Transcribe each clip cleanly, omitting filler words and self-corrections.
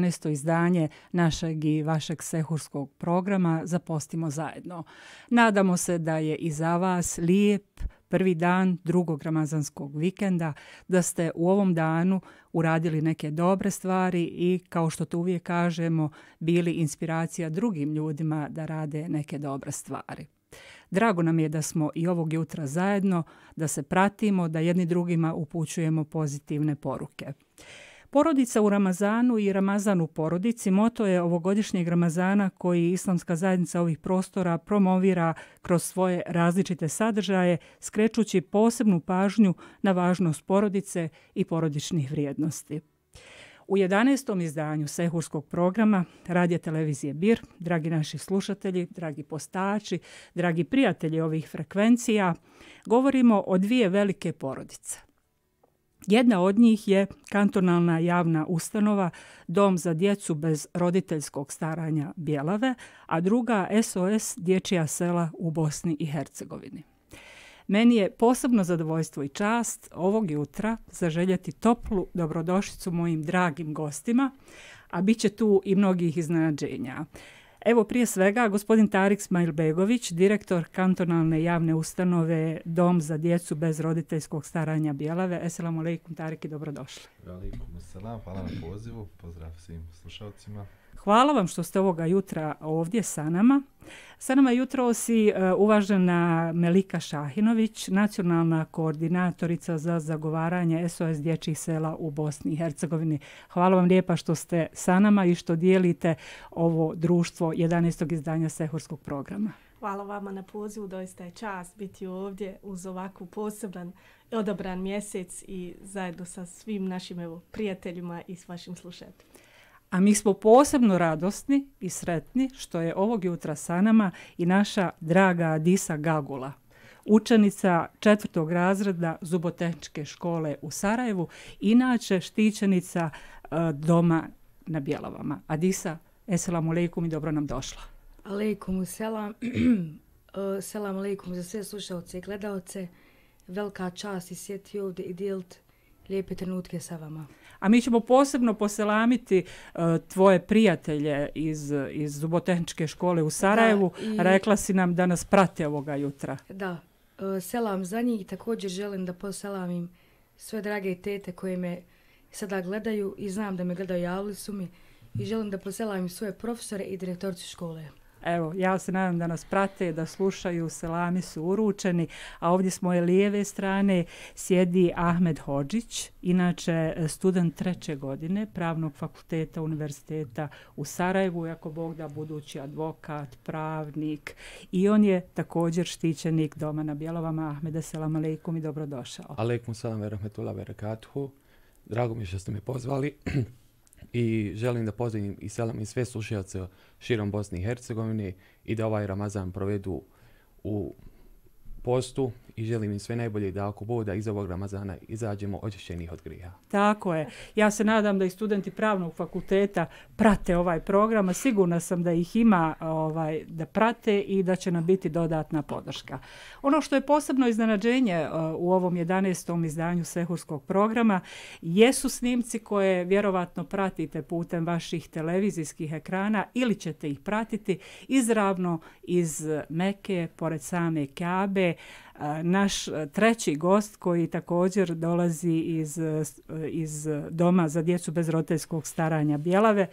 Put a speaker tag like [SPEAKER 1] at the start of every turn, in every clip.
[SPEAKER 1] 11. izdanje našeg i vašeg sehurskog programa Zapostimo zajedno. Nadamo se da je i za vas lijep prvi dan drugog ramazanskog vikenda, da ste u ovom danu uradili neke dobre stvari i, kao što to uvijek kažemo, bili inspiracija drugim ljudima da rade neke dobre stvari. Drago nam je da smo i ovog jutra zajedno, da se pratimo, da jedni drugima upućujemo pozitivne poruke. Porodica u Ramazanu i Ramazan u porodici moto je ovogodišnjeg Ramazana koji Islamska zajednica ovih prostora promovira kroz svoje različite sadržaje, skrećući posebnu pažnju na važnost porodice i porodičnih vrijednosti. U 11. izdanju sehurskog programa Radija televizije Bir, dragi naši slušatelji, dragi postači, dragi prijatelji ovih frekvencija, govorimo o dvije velike porodice. Jedna od njih je kantonalna javna ustanova Dom za djecu bez roditeljskog staranja Bjelave, a druga SOS Dječja sela u Bosni i Hercegovini. Meni je posebno zadovoljstvo i čast ovog jutra zaželjeti toplu dobrodošlicu mojim dragim gostima, a bit će tu i mnogih iznenađenja. Evo, prije svega, gospodin Tarik Smajlbegović, direktor kantonalne javne ustanove Dom za djecu bez roditeljskog staranja Bjelave. Esselamu alejkum, Tarik, i dobrodošli.
[SPEAKER 2] Alejkum selam, hvala na pozivu, pozdrav svim slušalcima.
[SPEAKER 1] Hvala vam što ste ovoga jutra ovdje sa nama. Sa nama jutros i uvažena Melika Šahinović, nacionalna koordinatorica za zagovaranje SOS dječjih sela u Bosni i Hercegovini. Hvala vam lijepa što ste sa nama i što dijelite ovo društvo 11. izdanja sehurskog programa.
[SPEAKER 3] Hvala vama na pozivu, doista je čast biti ovdje uz ovakvu poseban i odabran mjesec i zajedno sa svim našim prijateljima i s vašim slušateljima.
[SPEAKER 1] A mi smo posebno radosni i sretni što je ovog jutra sa nama i naša draga Adisa Gagula, učenica 4. razreda Zubotehničke škole u Sarajevu, inače štićenica Doma na Bjelavama. Adisa, esselamu alejkum i dobro nam došla.
[SPEAKER 4] Alejkum selam. Selam alejkum za sve slušalce i gledalce. Velika čast i sjeti ovdje i dijeliti lijepe trenutke sa vama.
[SPEAKER 1] A mi ćemo posebno poselamiti tvoje prijatelje iz Zubotehničke škole u Sarajevu. Da, rekla si nam da nas prate ovoga jutra.
[SPEAKER 4] Da, selam za njih i također želim da poselamim sve drage tete koje me sada gledaju i znam da me gledaju, javili su mi i želim da poselamim svoje profesore i direktoricu škole.
[SPEAKER 1] Evo, ja se nadam da nas prate, da slušaju, selami su uručeni, a ovdje s moje lijeve strane sjedi Ahmed Hodžić, inače student 3. godine Pravnog fakulteta Univerziteta u Sarajevu, ako Bog da budući advokat, pravnik, i on je također štićenik Doma na Bjelavama. Ahmede, selam alejkum i dobrodošao.
[SPEAKER 5] Alejkum selam ve rahmetullah ve berekatuhu. Drago mi što ste me pozvali. I želim da pozdravim i selam i sve slušalce širom Bosne i Hercegovine i da ovaj Ramazan provedu u postu i želim im sve najbolje da ako Bog da iz ovog Ramazana izađemo očišćenih od grijeha.
[SPEAKER 1] Tako je. Ja se nadam da i studenti Pravnog fakulteta prate ovaj program, a sigurna sam da ih ima da prate i da će nam biti dodatna podrška. Ono što je posebno iznenađenje u ovom 11. izdanju sehurskog programa jesu snimci koje vjerovatno pratite putem vaših televizijskih ekrana ili ćete ih pratiti izravno iz Mekke, pored same Kabe. Naš treći gost koji također dolazi iz Doma za djecu bez roditeljskog staranja Bjelave,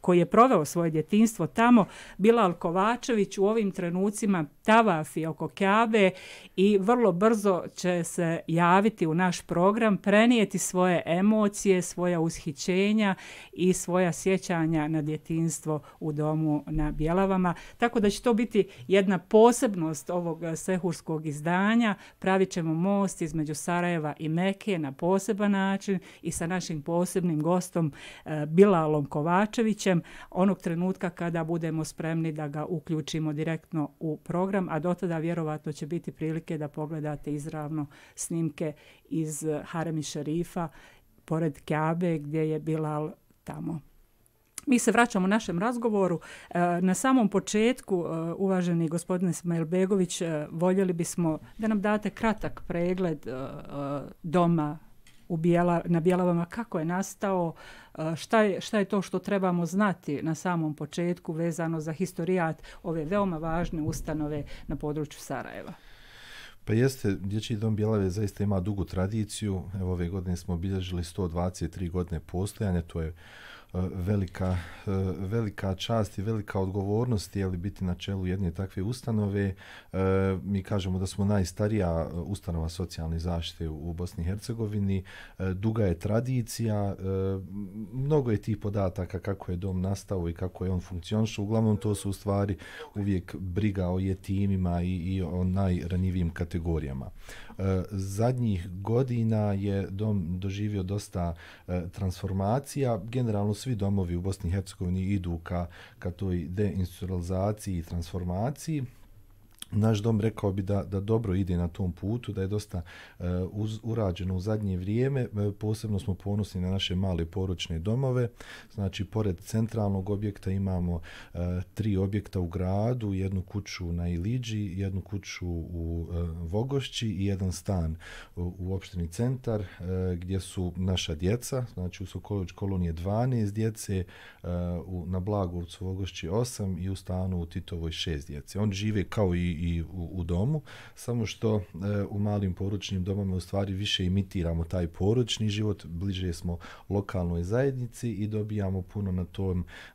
[SPEAKER 1] koji je proveo svoje djetinjstvo tamo, Bilal Kovačević u ovim trenucima tavafi oko Kabe i vrlo brzo će se javiti u naš program, prenijeti svoje emocije, svoja ushićenja i svoja sjećanja na djetinjstvo u Domu na Bjelavama. Tako da će to biti jedna posebnost ovog sehurskog izdanja. Pravit ćemo most između Sarajeva i Mekke na poseban način i sa našim posebnim gostom Bilalom Kovačevićem onog trenutka kada budemo spremni da ga uključimo direktno u program, a do tada vjerovatno će biti prilike da pogledate izravno snimke iz Harem Šerifa pored Kabe gdje je Bilal tamo. Mi se vraćamo našem razgovoru. Na samom početku, uvaženi gospodine Smajlbegović, voljeli bismo da nam date kratak pregled Doma na Bjelavama, kako je nastao, šta je to što trebamo znati na samom početku vezano za historijat ove veoma važne ustanove na području Sarajeva.
[SPEAKER 2] Pa jeste, Dječji dom Bjelave zaista ima dugu tradiciju. Evo, ove godine smo obilježili 123 godine postojanja, to je velika čast i velika odgovornost je li biti na čelu jedne takve ustanove. Mi kažemo da smo najstarija ustanova socijalne zaštite u Bosni i Hercegovini. Duga je tradicija, mnogo je tih podataka kako je dom nastao i kako je on funkcionišao. Uglavnom to su u stvari uvijek briga o jetimima i o najranjivijim kategorijama. Zadnjih godina je dom doživio dosta transformacija. Generalno svi domovi u Bosni i Hercegovini idu ka toj deinstitucionalizaciji i transformaciji. Naš dom rekao bi da dobro ide na tom putu, da je dosta urađeno u zadnje vrijeme. Posebno smo ponosni na naše male porodične domove. Znači, pored centralnog objekta imamo 3 objekta u gradu, jednu kuću na Iliđi, jednu kuću u Vogošći i jedan stan u opštini Centar, gdje su naša djeca. Znači, u Sokolović kolonije 12 djece, na Blagovcu Vogošći 8 i u stanu u Titovoj 6 djece. Oni žive kao i u domu, samo što u malim porodičnim domama u stvari više imitiramo taj porodični život, bliže smo lokalnoj zajednici i dobijamo puno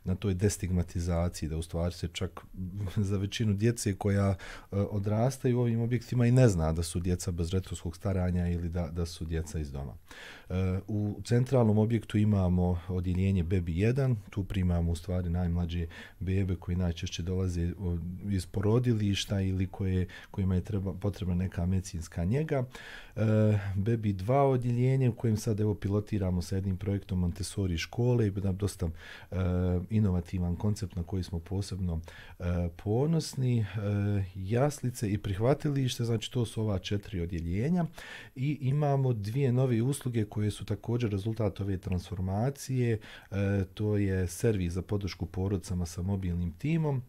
[SPEAKER 2] na toj destigmatizaciji, da u stvari se čak za većinu djece koja odrastaju u ovim objektima i ne zna da su djeca bez roditeljskog staranja ili da su djeca iz doma. U centralnom objektu imamo odjeljenje Bebi 1, tu primamo u stvari najmlađe bebe koji najčešće dolaze iz porodilišta ili kojima je potrebna neka medicinska njega. Bebi 2 odjeljenje u kojem sad pilotiramo sa jednim projektom Montessori škole i dosta inovativan koncept na koji smo posebno ponosni. Jaslice i prihvatilište, znači to su ova 4 odjeljenja i imamo 2 nove usluge koje su također rezultat ove transformacije. To je servis za podršku porodicama sa mobilnim timom,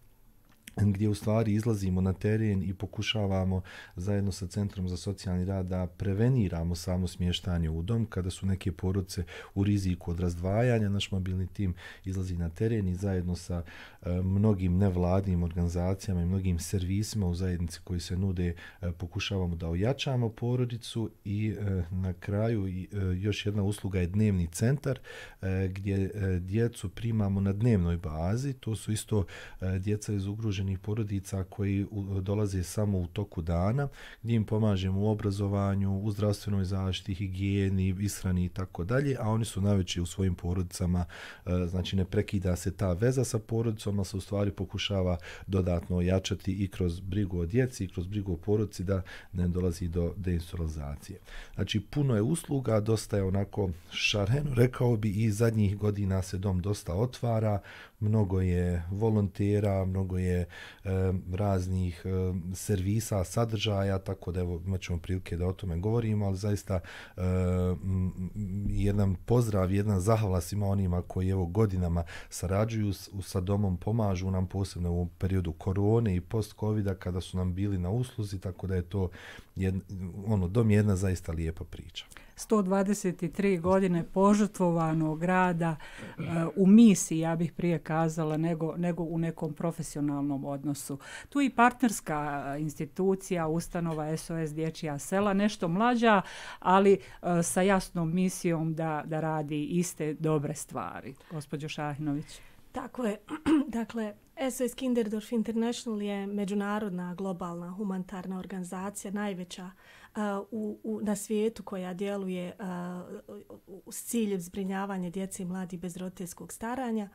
[SPEAKER 2] gdje u stvari izlazimo na teren i pokušavamo zajedno sa Centrom za socijalni rad da preveniramo samo smještanje u dom. Kada su neke porodice u riziku od razdvajanja, naš mobilni tim izlazi na teren i zajedno sa mnogim nevladnim organizacijama i mnogim servisima u zajednici koji se nude pokušavamo da ojačamo porodicu i na kraju još jedna usluga je dnevni centar gdje djecu primamo na dnevnoj bazi. To su isto djeca iz ugroženih porodica koji dolaze samo u toku dana, gdje im pomažemo u obrazovanju, u zdravstvenoj zaštiti, higijeni, ishrani i tako dalje, a oni su najveći u svojim porodicama, znači ne prekida se ta veza sa porodicom, a se u stvari pokušava dodatno ojačati i kroz brigu o djeci i kroz brigu o porodici da ne dolazi do deinstitucionalizacije. Znači puno je usluga, dosta je onako šareno, rekao bi, i zadnjih godina se dom dosta otvara, mnogo je volontera, mnogo je raznih servisa, sadržaja, tako da evo imat ćemo prilike da o tome govorimo, ali zaista jedan pozdrav, jedna zahvala svima onima koji evo godinama sarađuju sa domom, pomažu nam posebno u periodu korone i post-covida kada su nam bili na usluzi, tako da je to dom je jedna zaista lijepa priča.
[SPEAKER 1] 123 godine požrtvovanog rada u misiji, ja bih prije kazala, nego u nekom profesionalnom odnosu. Tu i partnerska institucija, ustanova SOS Dječja sela, nešto mlađa, ali sa jasnom misijom da radi iste dobre stvari. Gospođo Šahinović.
[SPEAKER 3] Tako je. Dakle, SOS Kinderdorf International je međunarodna globalna humanitarna organizacija, najveća na svijetu koja djeluje s ciljem zbrinjavanja djece i mladih bez roditeljskog staranja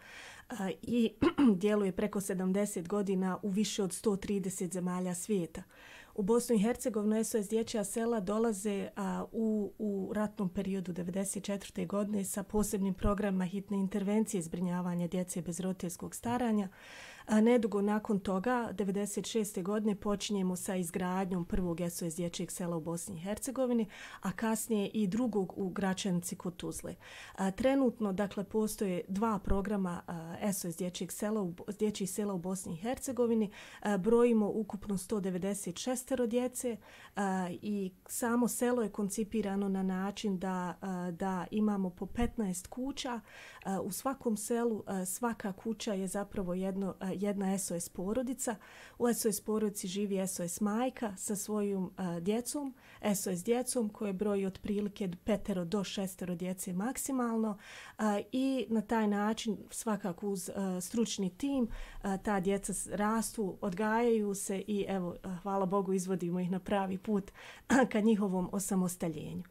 [SPEAKER 3] i djeluje preko 70 godina u više od 130 zemalja svijeta. U Bosnu i Hercegovinu SOS Dječja sela dolaze u ratnom periodu 1994. godine sa posebnim programima hitne intervencije zbrinjavanja djece bez roditeljskog staranja. Nedugo nakon toga, 1996. godine, počinjemo sa izgradnjom prvog SOS Dječjeg sela u Bosni i Hercegovini, a kasnije i drugog u Gračanici kod Tuzle. Trenutno, dakle, postoje 2 programa SOS dječjih sela u Bosni i Hercegovini. Brojimo ukupno 196 djece i samo selo je koncipirano na način da imamo po 15 kuća. U svakom selu svaka kuća je zapravo jedna SOS porodica. U SOS porodici živi SOS majka sa svojom djecom, SOS djecom koje broji otprilike 5 do 6 djece maksimalno i na taj način svakako uz stručni tim ta djeca rastu, odgajaju se i evo, hvala Bogu, izvodimo ih na pravi put ka njihovom osamostaljenju.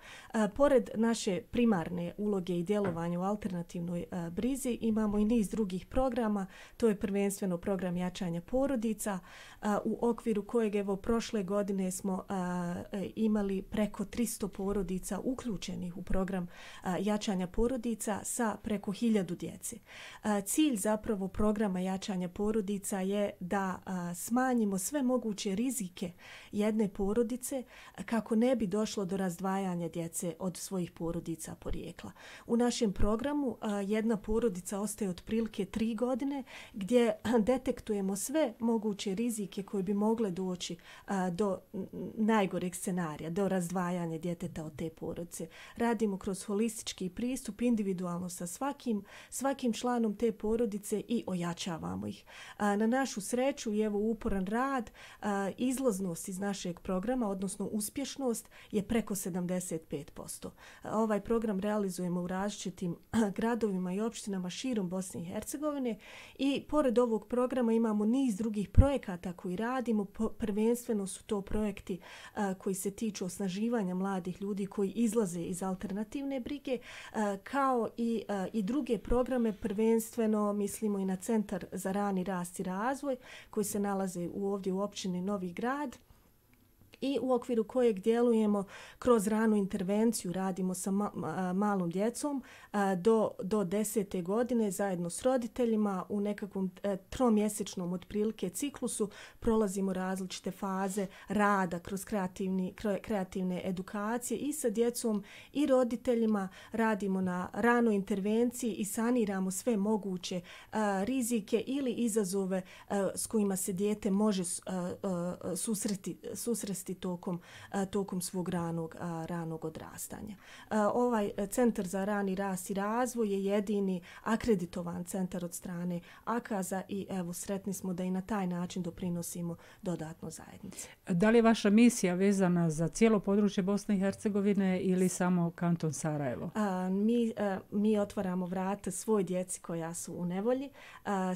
[SPEAKER 3] Pored naše primarne uloge i djelovanja u alternativnoj brizi imamo i niz drugih programa. To je prvenstveno program jačanja porodica u okviru kojeg evo prošle godine smo imali preko 300 porodica uključenih u program jačanja porodica sa preko 1000 djece. Cilj zapravo programa jačanja porodica je da smanjimo sve moguće rizike jedne porodice kako ne bi došlo do razdvajanja djece od svojih porodica porijekla. U našem programu jedna porodica ostaje otprilike 3 godine gdje detektujemo sve moguće rizike koje bi mogle doći do najgoreg scenarija, do razdvajanja djeteta od te porodice. Radimo kroz holistički pristup, individualno sa svakim članom te porodice i ojačavamo ih. Na našu sreću i evo uporan rad, izlaznost iz našeg programa, odnosno uspješnost, je preko 75%. Ovaj program realizujemo u različitim gradovima i opštinama širom Bosne i Hercegovine i pored ovog programa imamo niz drugih projekata koji radimo. Prvenstveno su to projekti koji se tiču osnaživanja mladih ljudi koji izlaze iz alternativne brige, kao i druge programe. Prvenstveno mislimo i na Centar za rani rast i razvoj koji se nalaze ovdje u općini Novi Grad i u okviru kojeg djelujemo kroz ranu intervenciju, radimo sa malom djecom do 10. godine zajedno s roditeljima u nekakvom tromjesečnom otprilike ciklusu. Prolazimo različite faze rada kroz kreativne edukacije i sa djecom i roditeljima, radimo na ranoj intervenciji i saniramo sve moguće rizike ili izazove s kojima se dijete može susresti tokom svog ranog odrastanja. Ovaj Centar za rani rast i razvoj je jedini akreditovan centar od strane AKAZ-a i evo sretni smo da i na taj način doprinosimo dodatno zajednici.
[SPEAKER 1] Da li je vaša misija vezana za cijelo područje Bosne i Hercegovine ili samo kanton Sarajevo?
[SPEAKER 3] Mi otvaramo vrata svoj djeci koja su u nevolji.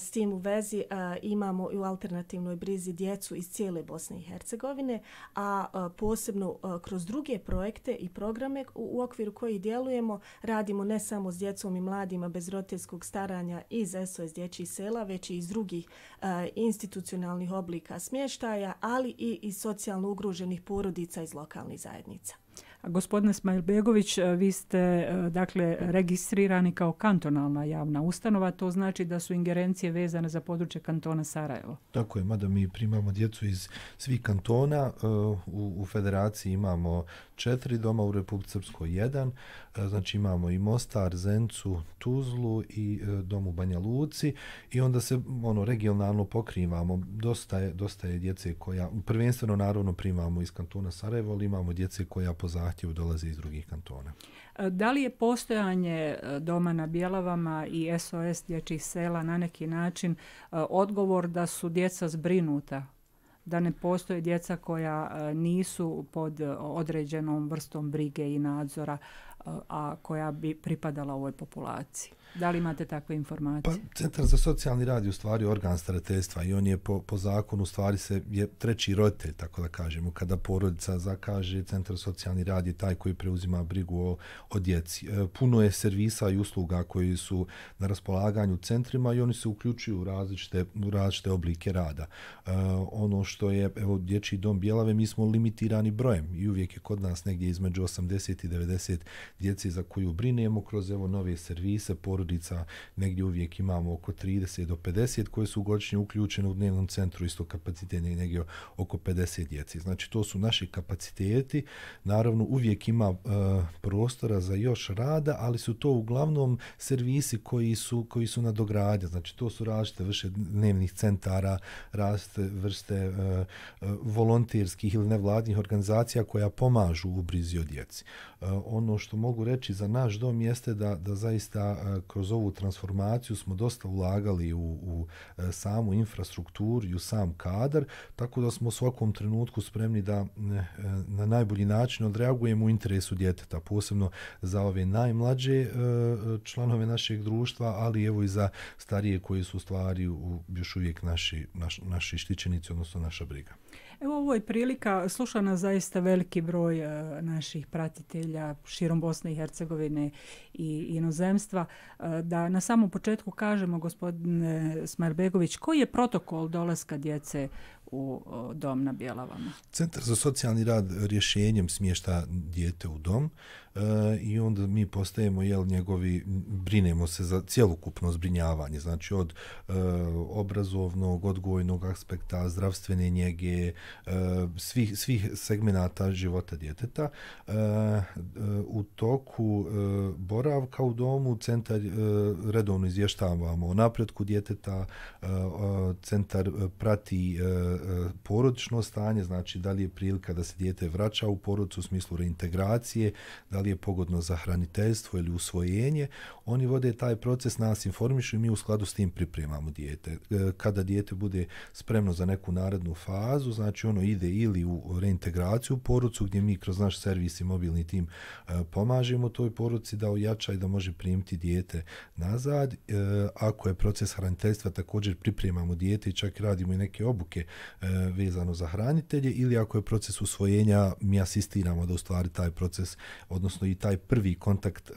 [SPEAKER 3] S tim u vezi imamo i u alternativnoj brizi djecu iz cijele Bosne i Hercegovine, a posebno kroz druge projekte i programe u okviru kojih djelujemo, radimo ne samo s djecom i mladima bez roditeljskog staranja iz SOS dječjih sela, već i iz drugih institucionalnih oblika smještaja, ali i iz socijalno ugroženih porodica iz lokalnih zajednica.
[SPEAKER 1] Gospodine Smajlbegović, vi ste dakle registrirani kao kantonalna javna ustanova, to znači da su ingerencije vezane za područje kantona Sarajevo.
[SPEAKER 2] Tako je, mada mi primamo djecu iz svih kantona, u federaciji imamo 4 doma, u Republici Srpskoj 1, znači imamo i Mostar, Zencu, Tuzlu i dom u Banja Luci i onda se regionalno pokrivamo. Dosta je djece koja, prvenstveno naravno primamo iz kantona Sarajevo, ali imamo djece koja po zahtjevu dolaze iz drugih kantona.
[SPEAKER 1] Da li je postojanje doma na Bjelavama i SOS dječjih sela na neki način odgovor da su djeca zbrinuta? Da ne postoje djeca koja nisu pod određenom vrstom brige i nadzora, a koja bi pripadala ovoj populaciji? Da li imate takve informacije?
[SPEAKER 2] Pa, Centar za socijalni rad je u stvari organ starateljstva i on je po zakonu u stvari je treći roditelj, tako da kažemo. Kada porodica zakaže, Centar za socijalni rad je taj koji preuzima brigu o djeci. Puno je servisa i usluga koji su na raspolaganju u centrima i oni se uključuju u različite oblike rada. Ono što je, evo, Dječji dom Bjelave, mi smo limitirani brojem i uvijek je kod nas negdje između 80 i 90 djeci za koju brinemo kroz nove servise, porodica, negdje uvijek imamo oko 30 do 50 koje su godišnje uključene u dnevnom centru, isto kapacitet negdje oko 50 djeci. Znači to su naši kapaciteti, naravno uvijek ima prostora za još rada, ali su to uglavnom servisi koji su na dogradnje, znači to su različite vrste dnevnih centara, različite vrste volonterskih ili nevladnih organizacija koja pomažu u brizi o djeci. Ono što mogu reći za naš dom jeste da zaista kroz ovu transformaciju smo dosta ulagali u samu infrastrukturu i u sam kadar, tako da smo u svakom trenutku spremni da na najbolji način odreagujemo u interesu djeteta, posebno za ove najmlađe članove našeg društva, ali evo i za starije koji su stvari još uvijek naši štićenici, odnosno naša briga.
[SPEAKER 1] Evo ovo je prilika, sluša nas zaista veliki broj naših pratitelja širom Bosne i Hercegovine i inozemstva, da na samom početku kažemo, gospodine Smailbegović, koji je protokol dolaska djece u dom na Bjelavama?
[SPEAKER 2] Centar za socijalni rad rješenjem smješta dijete u dom i onda mi postajemo brinemo se za cjelokupno zbrinjavanje, znači od obrazovnog, odgojnog aspekta, zdravstvene njege, svih segmenata života djeteta. U toku boravka u domu centar redovno izvještavamo o napretku djeteta, centar prati porodično stanje, znači da li je prilika da se dijete vraća u porodicu u smislu reintegracije, da li je pogodno za hraniteljstvo ili usvojenje. Oni vode taj proces, nas informišu i mi u skladu s tim pripremamo dijete. Kada dijete bude spremno za neku narednu fazu, znači ono ide ili u reintegraciju u porodicu gdje mi kroz naš servis i mobilni tim pomažemo toj porodici da ojača i da može primiti dijete nazad. Ako je proces hraniteljstva, također pripremamo dijete i čak radimo i neke obuke vezano za hranitelje, ili ako je proces usvojenja, mi asistiramo da u stvari taj proces, odnosno i taj prvi kontakt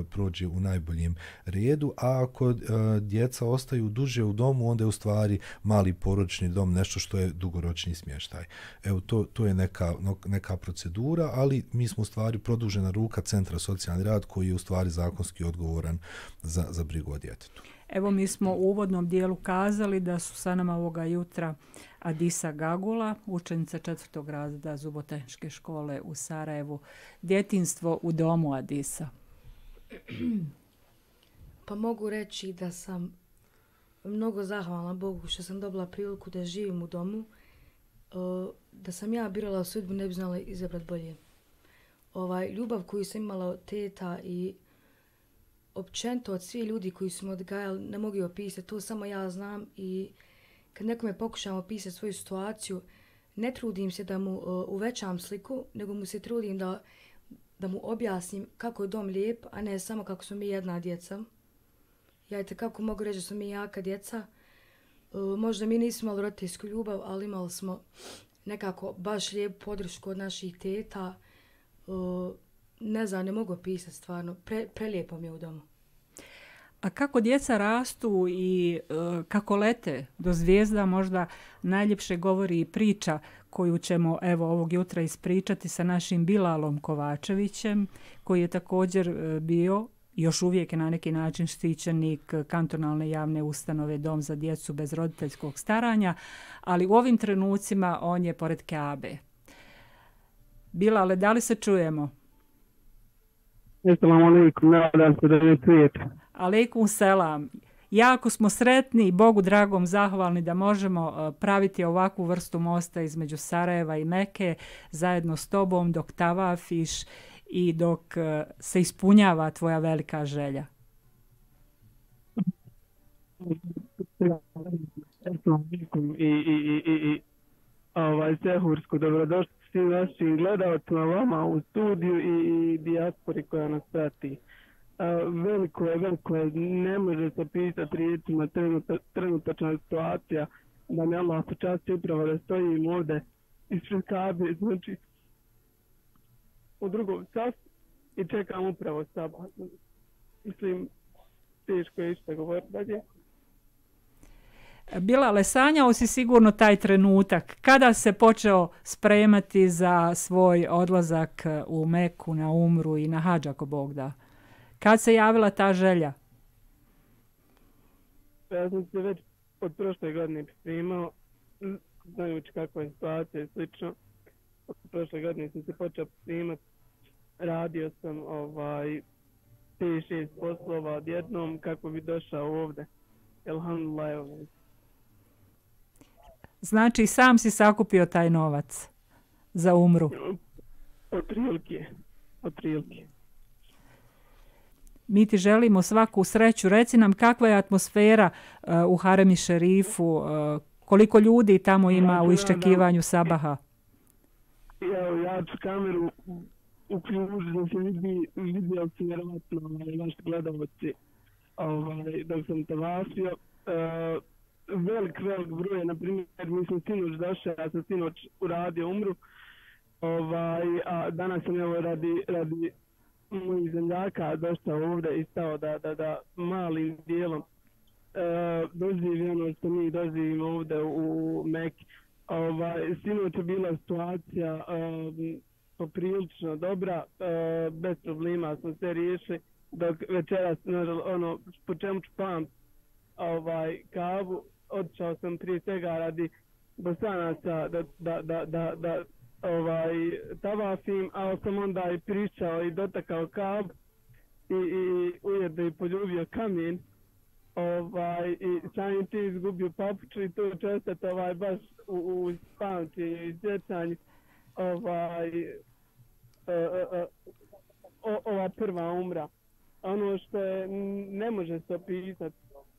[SPEAKER 2] prođe u najboljem redu, a ako djeca ostaju duže u domu, onda je u stvari mali porodični dom nešto što je dugoročni smještaj. Evo, to je neka procedura, ali mi smo u stvari produžena ruka Centra socijalni rad koji je u stvari zakonski odgovoran za brigu o djetetu.
[SPEAKER 1] Evo, mi smo u uvodnom dijelu kazali da su sa nama ovoga jutra Adisa Gagula, učenica 4. razreda Zubotehničke škole u Sarajevu. Djetinjstvo u domu, Adisa.
[SPEAKER 4] Pa mogu reći da sam mnogo zahvalna Bogu što sam dobila priliku da živim u domu. Da sam ja birala sudbu, ne bi znala izabrati bolje. Ljubav koju sam imala od teta i općenito od svih ljudi koji su me odgajali, ne mogu opisati, to samo ja znam, i kad nekome pokušam opisati svoju situaciju, ne trudim se da mu uvećam sliku, nego mu se trudim da mu objasnim kako je dom lijep, a ne samo kako smo mi jedna djeca. Ja kako mogu reći da smo mi jaka djeca. Možda mi nismo imali roditeljsku ljubav, ali imali smo nekako baš lijepu podršku od naših teta. Ne znam, ne mogu opisati stvarno. Prelijepo mi je u domu.
[SPEAKER 1] A kako djeca rastu i kako lete do zvijezda, možda najljepše govori i priča koju ćemo evo ovog jutra ispričati sa našim Bilalom Kovačevićem, koji je također bio, još uvijek je na neki način štićenik kantonalne javne ustanove Dom za djecu bez roditeljskog staranja, ali u ovim trenucima on je pored Kaabe. Bilale, da li se čujemo?
[SPEAKER 6] Assalamu alaikum, nadam se da ne čujete.
[SPEAKER 1] Alejkum selam. Jako smo sretni i Bogu dragom zahvalni da možemo praviti ovakvu vrstu mosta između Sarajeva i Mekke zajedno s tobom dok tavafiš i dok se ispunjava tvoja velika želja.
[SPEAKER 6] I Sehursku, dobrodošli svim našim gledalcima, vama u studiju i dijaspori koja nas prati. Veliko je, ne može se pisati riječima trenutačna situacija, da mi Allah počasti upravo da stojim ovdje ispred Kabe, znači u drugom času i čekam upravo sabah. Mislim, teško je išta govoriti dalje.
[SPEAKER 1] Bilale, sanjao si sigurno taj trenutak. Kada se počeo spremati za svoj odlazak u Meku, na umru i na hadž, ako Bog da? Kad se javila ta želja?
[SPEAKER 6] Ja sam se već od prošle godine pripremao, znajući kakva je situacija i slično. Od prošle godine sam se počeo pripremati. Radio sam 5-6 poslova odjednom kako bi došao ovdje. Elhamdulillah, evo.
[SPEAKER 1] Znači, sam si sakupio taj novac za umru?
[SPEAKER 6] Otprilike.
[SPEAKER 1] Mi ti želimo svaku sreću. Reci nam kakva je atmosfera u Harem Šerifu, koliko ljudi tamo ima u iščekivanju sabaha?
[SPEAKER 6] Evo, ja ću kameru uključiti da se vidio se vjerovatno vaši gledalci dok sam tavafio. Velik broj, na primjer, mi sam sinoć došao, ja sam sinoć uradio umru, a danas sam evo radi mojih zemljaka došao ovdje i stao da malim dijelom doživi ono što mi doživimo ovdje u Meki. Sinoć je bila situacija poprilično dobra, bez problema smo se riješili, dok večeras, ono, po čemu ću pamti kavu, otišao sam prije svega radi Bosanaca da tavafim, ali sam onda i pričao i dotakao kavu i ujedno i poljubio kamen i samim ti izgubio papuču i to će ostati baš u pamćenju i sjećanju ova prva umra. Ono što je, ne može se opisati,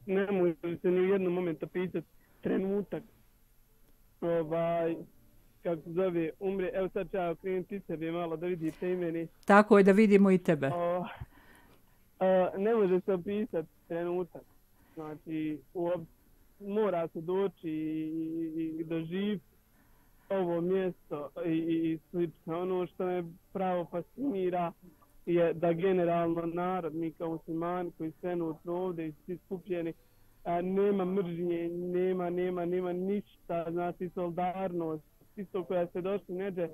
[SPEAKER 6] ne može se ni u jednom momentu opisati trenutak kako se zove umre. Evo sad ću ja okrenuti sebi malo da vidite i meni.
[SPEAKER 1] Tako je, da vidimo i tebe.
[SPEAKER 6] Ne može se opisati trenutak. Znači, mora se doći i doživiti ovo mjesto i slično. Ono što me pravo fascinira je da generalno narod, mi kao muslimani koji trenutno ovdje i svi skupljeni, nema mržnje, nema ništa, znači solidarnost, isto koja se došli neđe,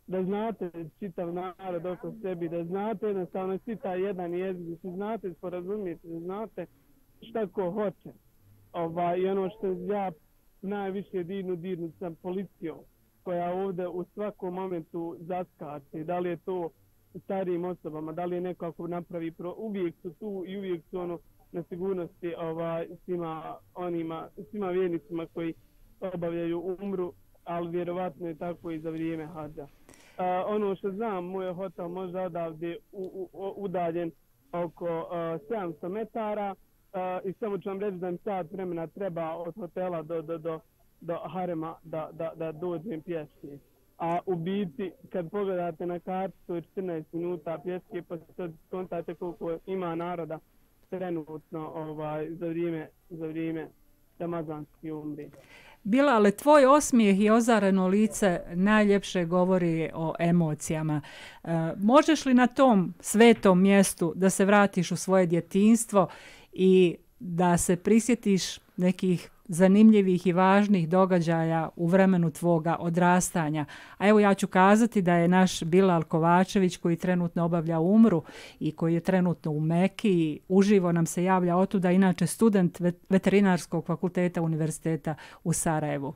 [SPEAKER 6] da znate čitav narod oko sebi, da znate jednostavno svi taj jedan jezik, da se znate sporazumijete, da znate šta ko hoće. I ono što ja najviše dirnu sam policijom, koja ovdje u svakom momentu zaskače, da li je to starijim osobama, da li je neko ako napravi uvijek su tu i uvijek su ono na sigurnosti svima vjernicima koji obavljaju umru, ali vjerovatno je tako i za vrijeme hadža. Ono što znam, moj hotel možda odavde udaljen oko 700 metara i samo ću vam reći da mi sat vremena treba od hotela do harema da dođem pješke. A u biti, kad pogledate na kartu, to je 14 minuta pješke, pa sad kontate koliko ima naroda trenutno za vrijeme ramazanski umri.
[SPEAKER 1] Bilale, tvoj osmijeh i ozareno lice najljepše govori o emocijama. Možeš li na tom svetom mjestu da se vratiš u svoje djetinjstvo i da se prisjetiš nekih zanimljivih i važnih događaja u vremenu tvoga odrastanja? A evo ja ću kazati da je naš Bilal Kovačević, koji trenutno obavlja umru i koji je trenutno u Meki, uživo nam se javlja otuda, inače student veterinarskog fakulteta univerziteta u Sarajevu.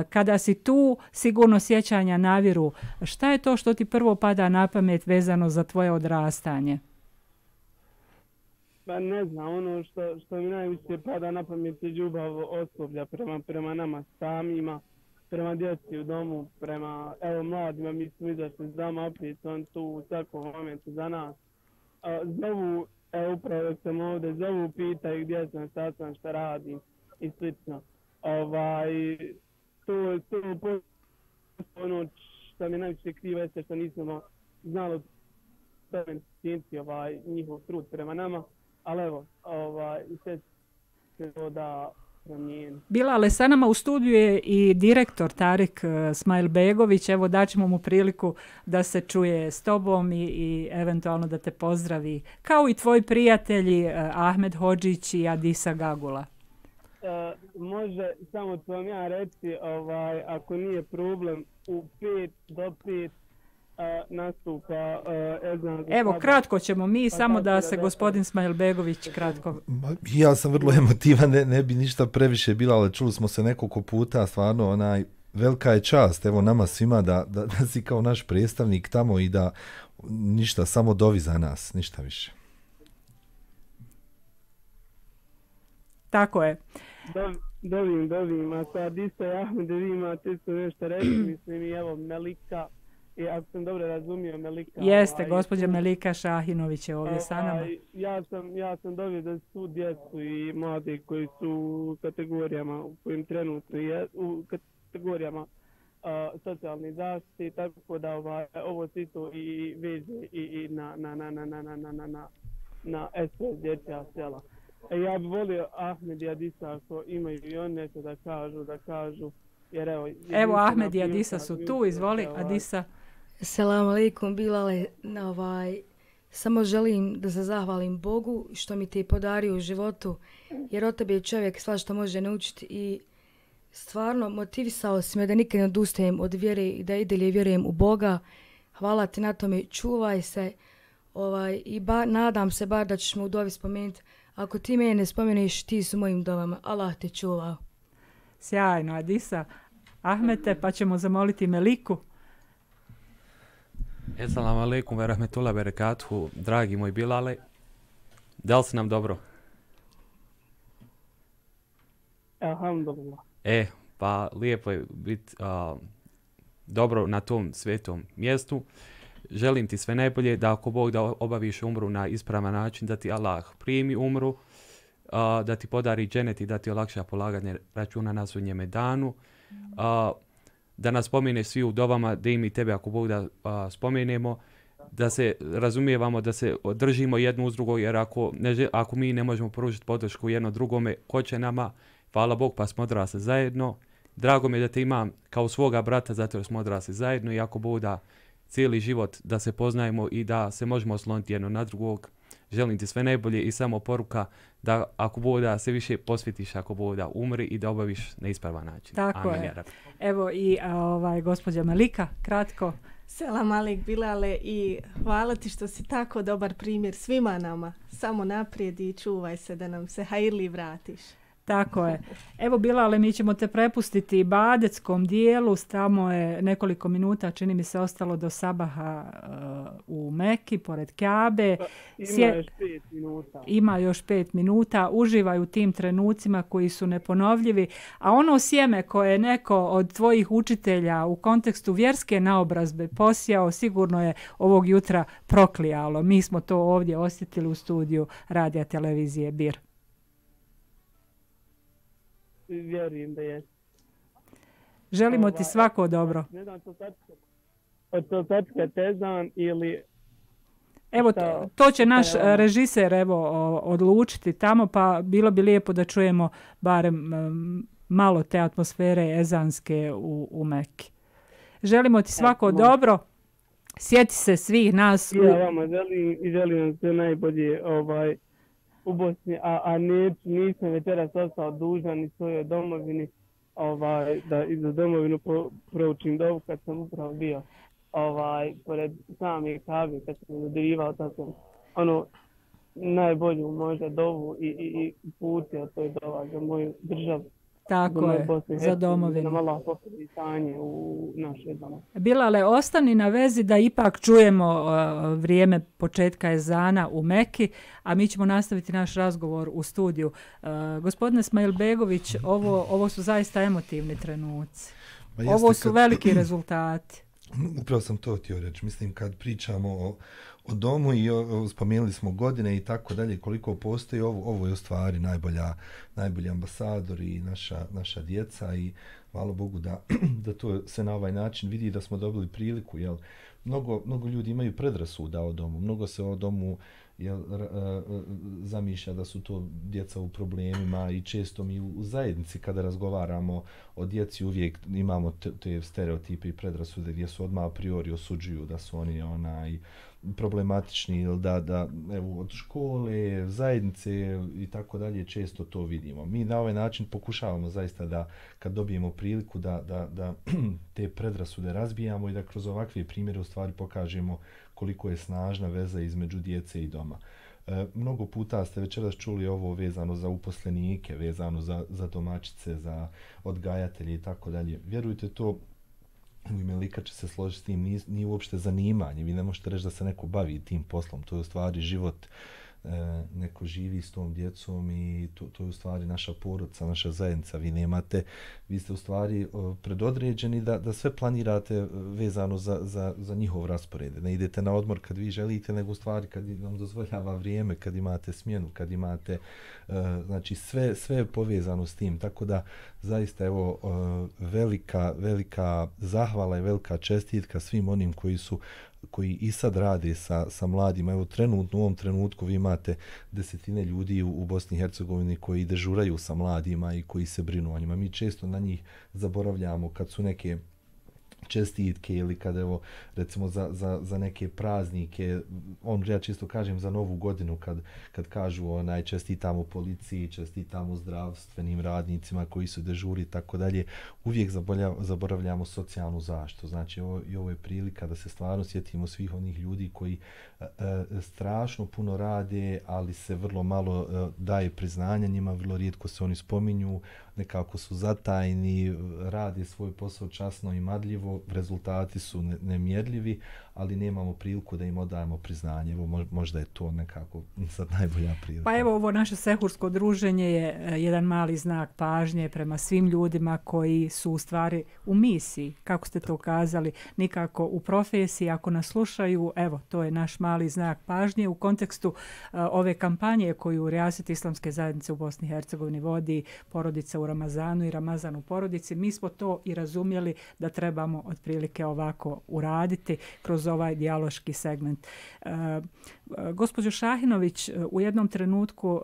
[SPEAKER 1] Kada si tu, sigurno sjećanja naviru. Šta je to što ti prvo pada na pamet vezano za tvoje odrastanje?
[SPEAKER 6] Pa ne znam, ono što mi najviše pada na pamet je ljubav osoblja prema nama samima, prema djeci u domu, prema mladima, mi smo izašli s dama, opet on tu u svakom momentu za nas. Zovu, upravo dok sam ovdje, zovu, pitaju gdje sam, šta sam, šta radim i slično. To ono što mi najviše kriva jeste što nismo znali njihov trud prema nama. Ali evo, i sve se to da promijeni.
[SPEAKER 1] Bilale, sa nama u studiju je i direktor Tarik Smajlbegović. Evo daćemo mu priliku da se čuje s tobom i eventualno da te pozdravi. Kao i tvoji prijatelji Ahmed Hodžić i Adisa Gagula.
[SPEAKER 6] Može, samo ću vam ja reći, ako nije problem, u 5 do 5 nastupa ezan.
[SPEAKER 1] Evo, kratko ćemo mi, samo da se gospodin Smajlbegović kratko...
[SPEAKER 2] Ja sam vrlo emotivan, ne bi ništa previše bila, ali čuli smo se nekoliko puta, stvarno velika je čast, evo nama svima da si kao naš predstavnik tamo i da ništa, samo dovi za nas, ništa više.
[SPEAKER 1] Tako je.
[SPEAKER 6] Dovim, a sad isto Ahmede, vi imate isto nešto reći, mislim i evo Melika, i ako sam dobro razumio Melika...
[SPEAKER 1] Jeste, gospođa Melika Šahinović je ovdje sa nama.
[SPEAKER 6] Ja sam dobio da su djecu i mlade koji su u kategorijama u kojim trenutno je, u kategorijama socijalne zaštite, tako da ovo se isto i veže i na SOS dječja sela. Ja bih volio Ahmed i Adisa ako imaju i on nešto da kažu, jer
[SPEAKER 1] evo Ahmed i Adisa su tu, izvoli Adisa.
[SPEAKER 4] Selam alejkum Bilale, samo želim da se zahvalim Bogu što mi te podario u životu, jer od tebe je čovjek svašta može naučiti i stvarno motivisao si me da nikad ne odustajem od vjere i da i dalje vjerujem u Boga. Hvala ti na tome, čuvaj se i nadam se bar da ćeš me u dovi spomenuti. Ako ti mene ne spomeneš, ti su mojim dovama. Allah te čuvao.
[SPEAKER 1] Sjajno, Adisa. Ahmete, pa ćemo zamoliti Meliku.
[SPEAKER 5] Assalamu alaikum wa rahmatullahi wa barakatuhu. Dragi moj Bilale, da li si nam dobro?
[SPEAKER 6] Alhamdulillah.
[SPEAKER 5] Pa lijepo je biti dobro na tom svetom mjestu. Želim ti sve najbolje, da ako Bog da obaviš umru na ispravan način, da ti Allah primi umru, da ti podari dženet i da ti olakša polaganje računa na sudnjeme danu, da nas spomeneš svi u dovama, da i mi tebe ako Bog da spomenemo, da se razumijevamo, da se držimo jedno uz drugo, jer ako mi ne možemo pružiti podršku jedno drugome, ko će nama? Hvala Bog, pa smo odrasli zajedno. Drago mi je da te imam kao svoga brata, zato jer smo odrasli zajedno i ako Bog da cijeli život da se poznajemo i da se možemo osloniti jedno na drugog. Želim ti sve najbolje i samo poruka da ako Bog da se više posvetiš, ako Bog da umri i da obaviš na ispravan način.
[SPEAKER 1] Tako
[SPEAKER 5] Amin,
[SPEAKER 1] je. Evo i gospođa Melika, kratko.
[SPEAKER 3] Selam alik Bilale i hvala ti što si tako dobar primjer svima nama. Samo naprijed i čuvaj se da nam se hajirli vratiš.
[SPEAKER 1] Tako je. Evo Bilale, mi ćemo te prepustiti Badeckom dijelu, tamo je nekoliko minuta, čini mi se, ostalo do sabaha u Meki, pored Kjabe. Ima još 5 minuta. Uživaj u tim trenucima koji su neponovljivi. A ono sjeme koje je neko od tvojih učitelja u kontekstu vjerske naobrazbe posijao, sigurno je ovog jutra proklijalo. Mi smo to ovdje osjetili u studiju radija televizije Bir.
[SPEAKER 6] Vjerujem da je.
[SPEAKER 1] Želimo ti svako dobro.
[SPEAKER 6] Ne znam, to tačka tezan ili...
[SPEAKER 1] Evo, to će naš režiser odlučiti tamo, pa bilo bi lijepo da čujemo barem malo te atmosfere ezanske u Meki. Želimo ti svako dobro. Sjeti se svih nas.
[SPEAKER 6] Ja vama želim sve najbolje u Bosni, a nisam večeras ostao dužan i svojoj domovini, da i za domovinu proučim dovu kad sam upravo bio pored same Kabe, kad sam dodirivao, tako najbolju možda dovu i putio to je dova za moju državu.
[SPEAKER 1] Tako je, za domovinu.
[SPEAKER 6] Da malo popravi stanje u našoj domovini.
[SPEAKER 1] Bilale, ostani na vezi da ipak čujemo vrijeme početka ezana u Meki, a mi ćemo nastaviti naš razgovor u studiju. Gospodine Smajlbegović, ovo su zaista emotivni trenuci. Ovo su veliki rezultati.
[SPEAKER 2] Upravo sam to htio reći. Mislim, kad pričamo o domu i spomenuli smo godine i tako dalje, koliko postoji, ovo je u stvari najbolji ambasador i naša djeca i hvala Bogu da to se na ovaj način vidi, da smo dobili priliku. Jel? Mnogo ljudi imaju predrasuda o domu, mnogo se o domu zamišlja da su to djeca u problemima i često mi u zajednici kada razgovaramo o djeci uvijek imamo te stereotipe i predrasude gdje su odmah a priori osuđuju da su oni problematični ili da evo, od škole, zajednice i tako dalje često to vidimo. Mi na ovaj način pokušavamo zaista da kad dobijemo priliku da te predrasude razbijamo i da kroz ovakve primjere u stvari pokažemo koliko je snažna veza između djece i doma. Mnogo puta ste večeras čuli ovo vezano za uposlenike, vezano za domaćice, za odgajatelje i tako dalje. Vjerujte, to u ime lika će se složiti s tim, nije uopšte zanimanje. Vi ne možete reći da se neko bavi tim poslom. To je u stvari život, neko živi s tom djecom i to je u stvari naša porodica, naša zajednica. Vi ste u stvari predodređeni da sve planirate vezano za njihov raspored. Ne idete na odmor kad vi želite, nego u stvari kad vam dozvoljava vrijeme, kad imate smjenu, kad imate, znači sve je povezano s tim. Tako da zaista evo velika zahvala i velika čestitka svim onim koji i sad rade sa mladima. Evo trenutno, u ovom trenutku vi imate desetine ljudi u Bosni i Hercegovini koji dežuraju sa mladima i koji se brinu o njima. Mi često na njih zaboravljamo kad su neke čestitke ili kad evo recimo za neke praznike, ja čisto kažem za Novu godinu kad kažu čestitamo policiji, čestitamo zdravstvenim radnicima koji su dežuri i tako dalje, uvijek zaboravljamo socijalnu zaštitu. Znači ovo je prilika da se stvarno sjetimo svih onih ljudi koji strašno puno rade, ali se vrlo malo daje priznanja njima, vrlo rijetko se oni spominju, nekako su zatajni, rade svoj posao časno i marljivo, rezultati su nemjerljivi, ali nemamo priliku da im odajemo priznanje. Evo, možda je to nekako sad najbolja prilika.
[SPEAKER 1] Pa evo, ovo naše sehursko druženje je jedan mali znak pažnje prema svim ljudima koji su u stvari u misiji, kako ste to kazali, nikako u profesiji. Ako nas slušaju, evo, to je naš mali znak pažnje u kontekstu ove kampanje koju Rijaset Islamske zajednice u Bosni i Hercegovini vodi, porodica u Ramazanu i Ramazan u porodici. Mi smo to i razumjeli da trebamo otprilike ovako uraditi kroz ovaj dijaloški segment. Gospođo Šahinović, u jednom trenutku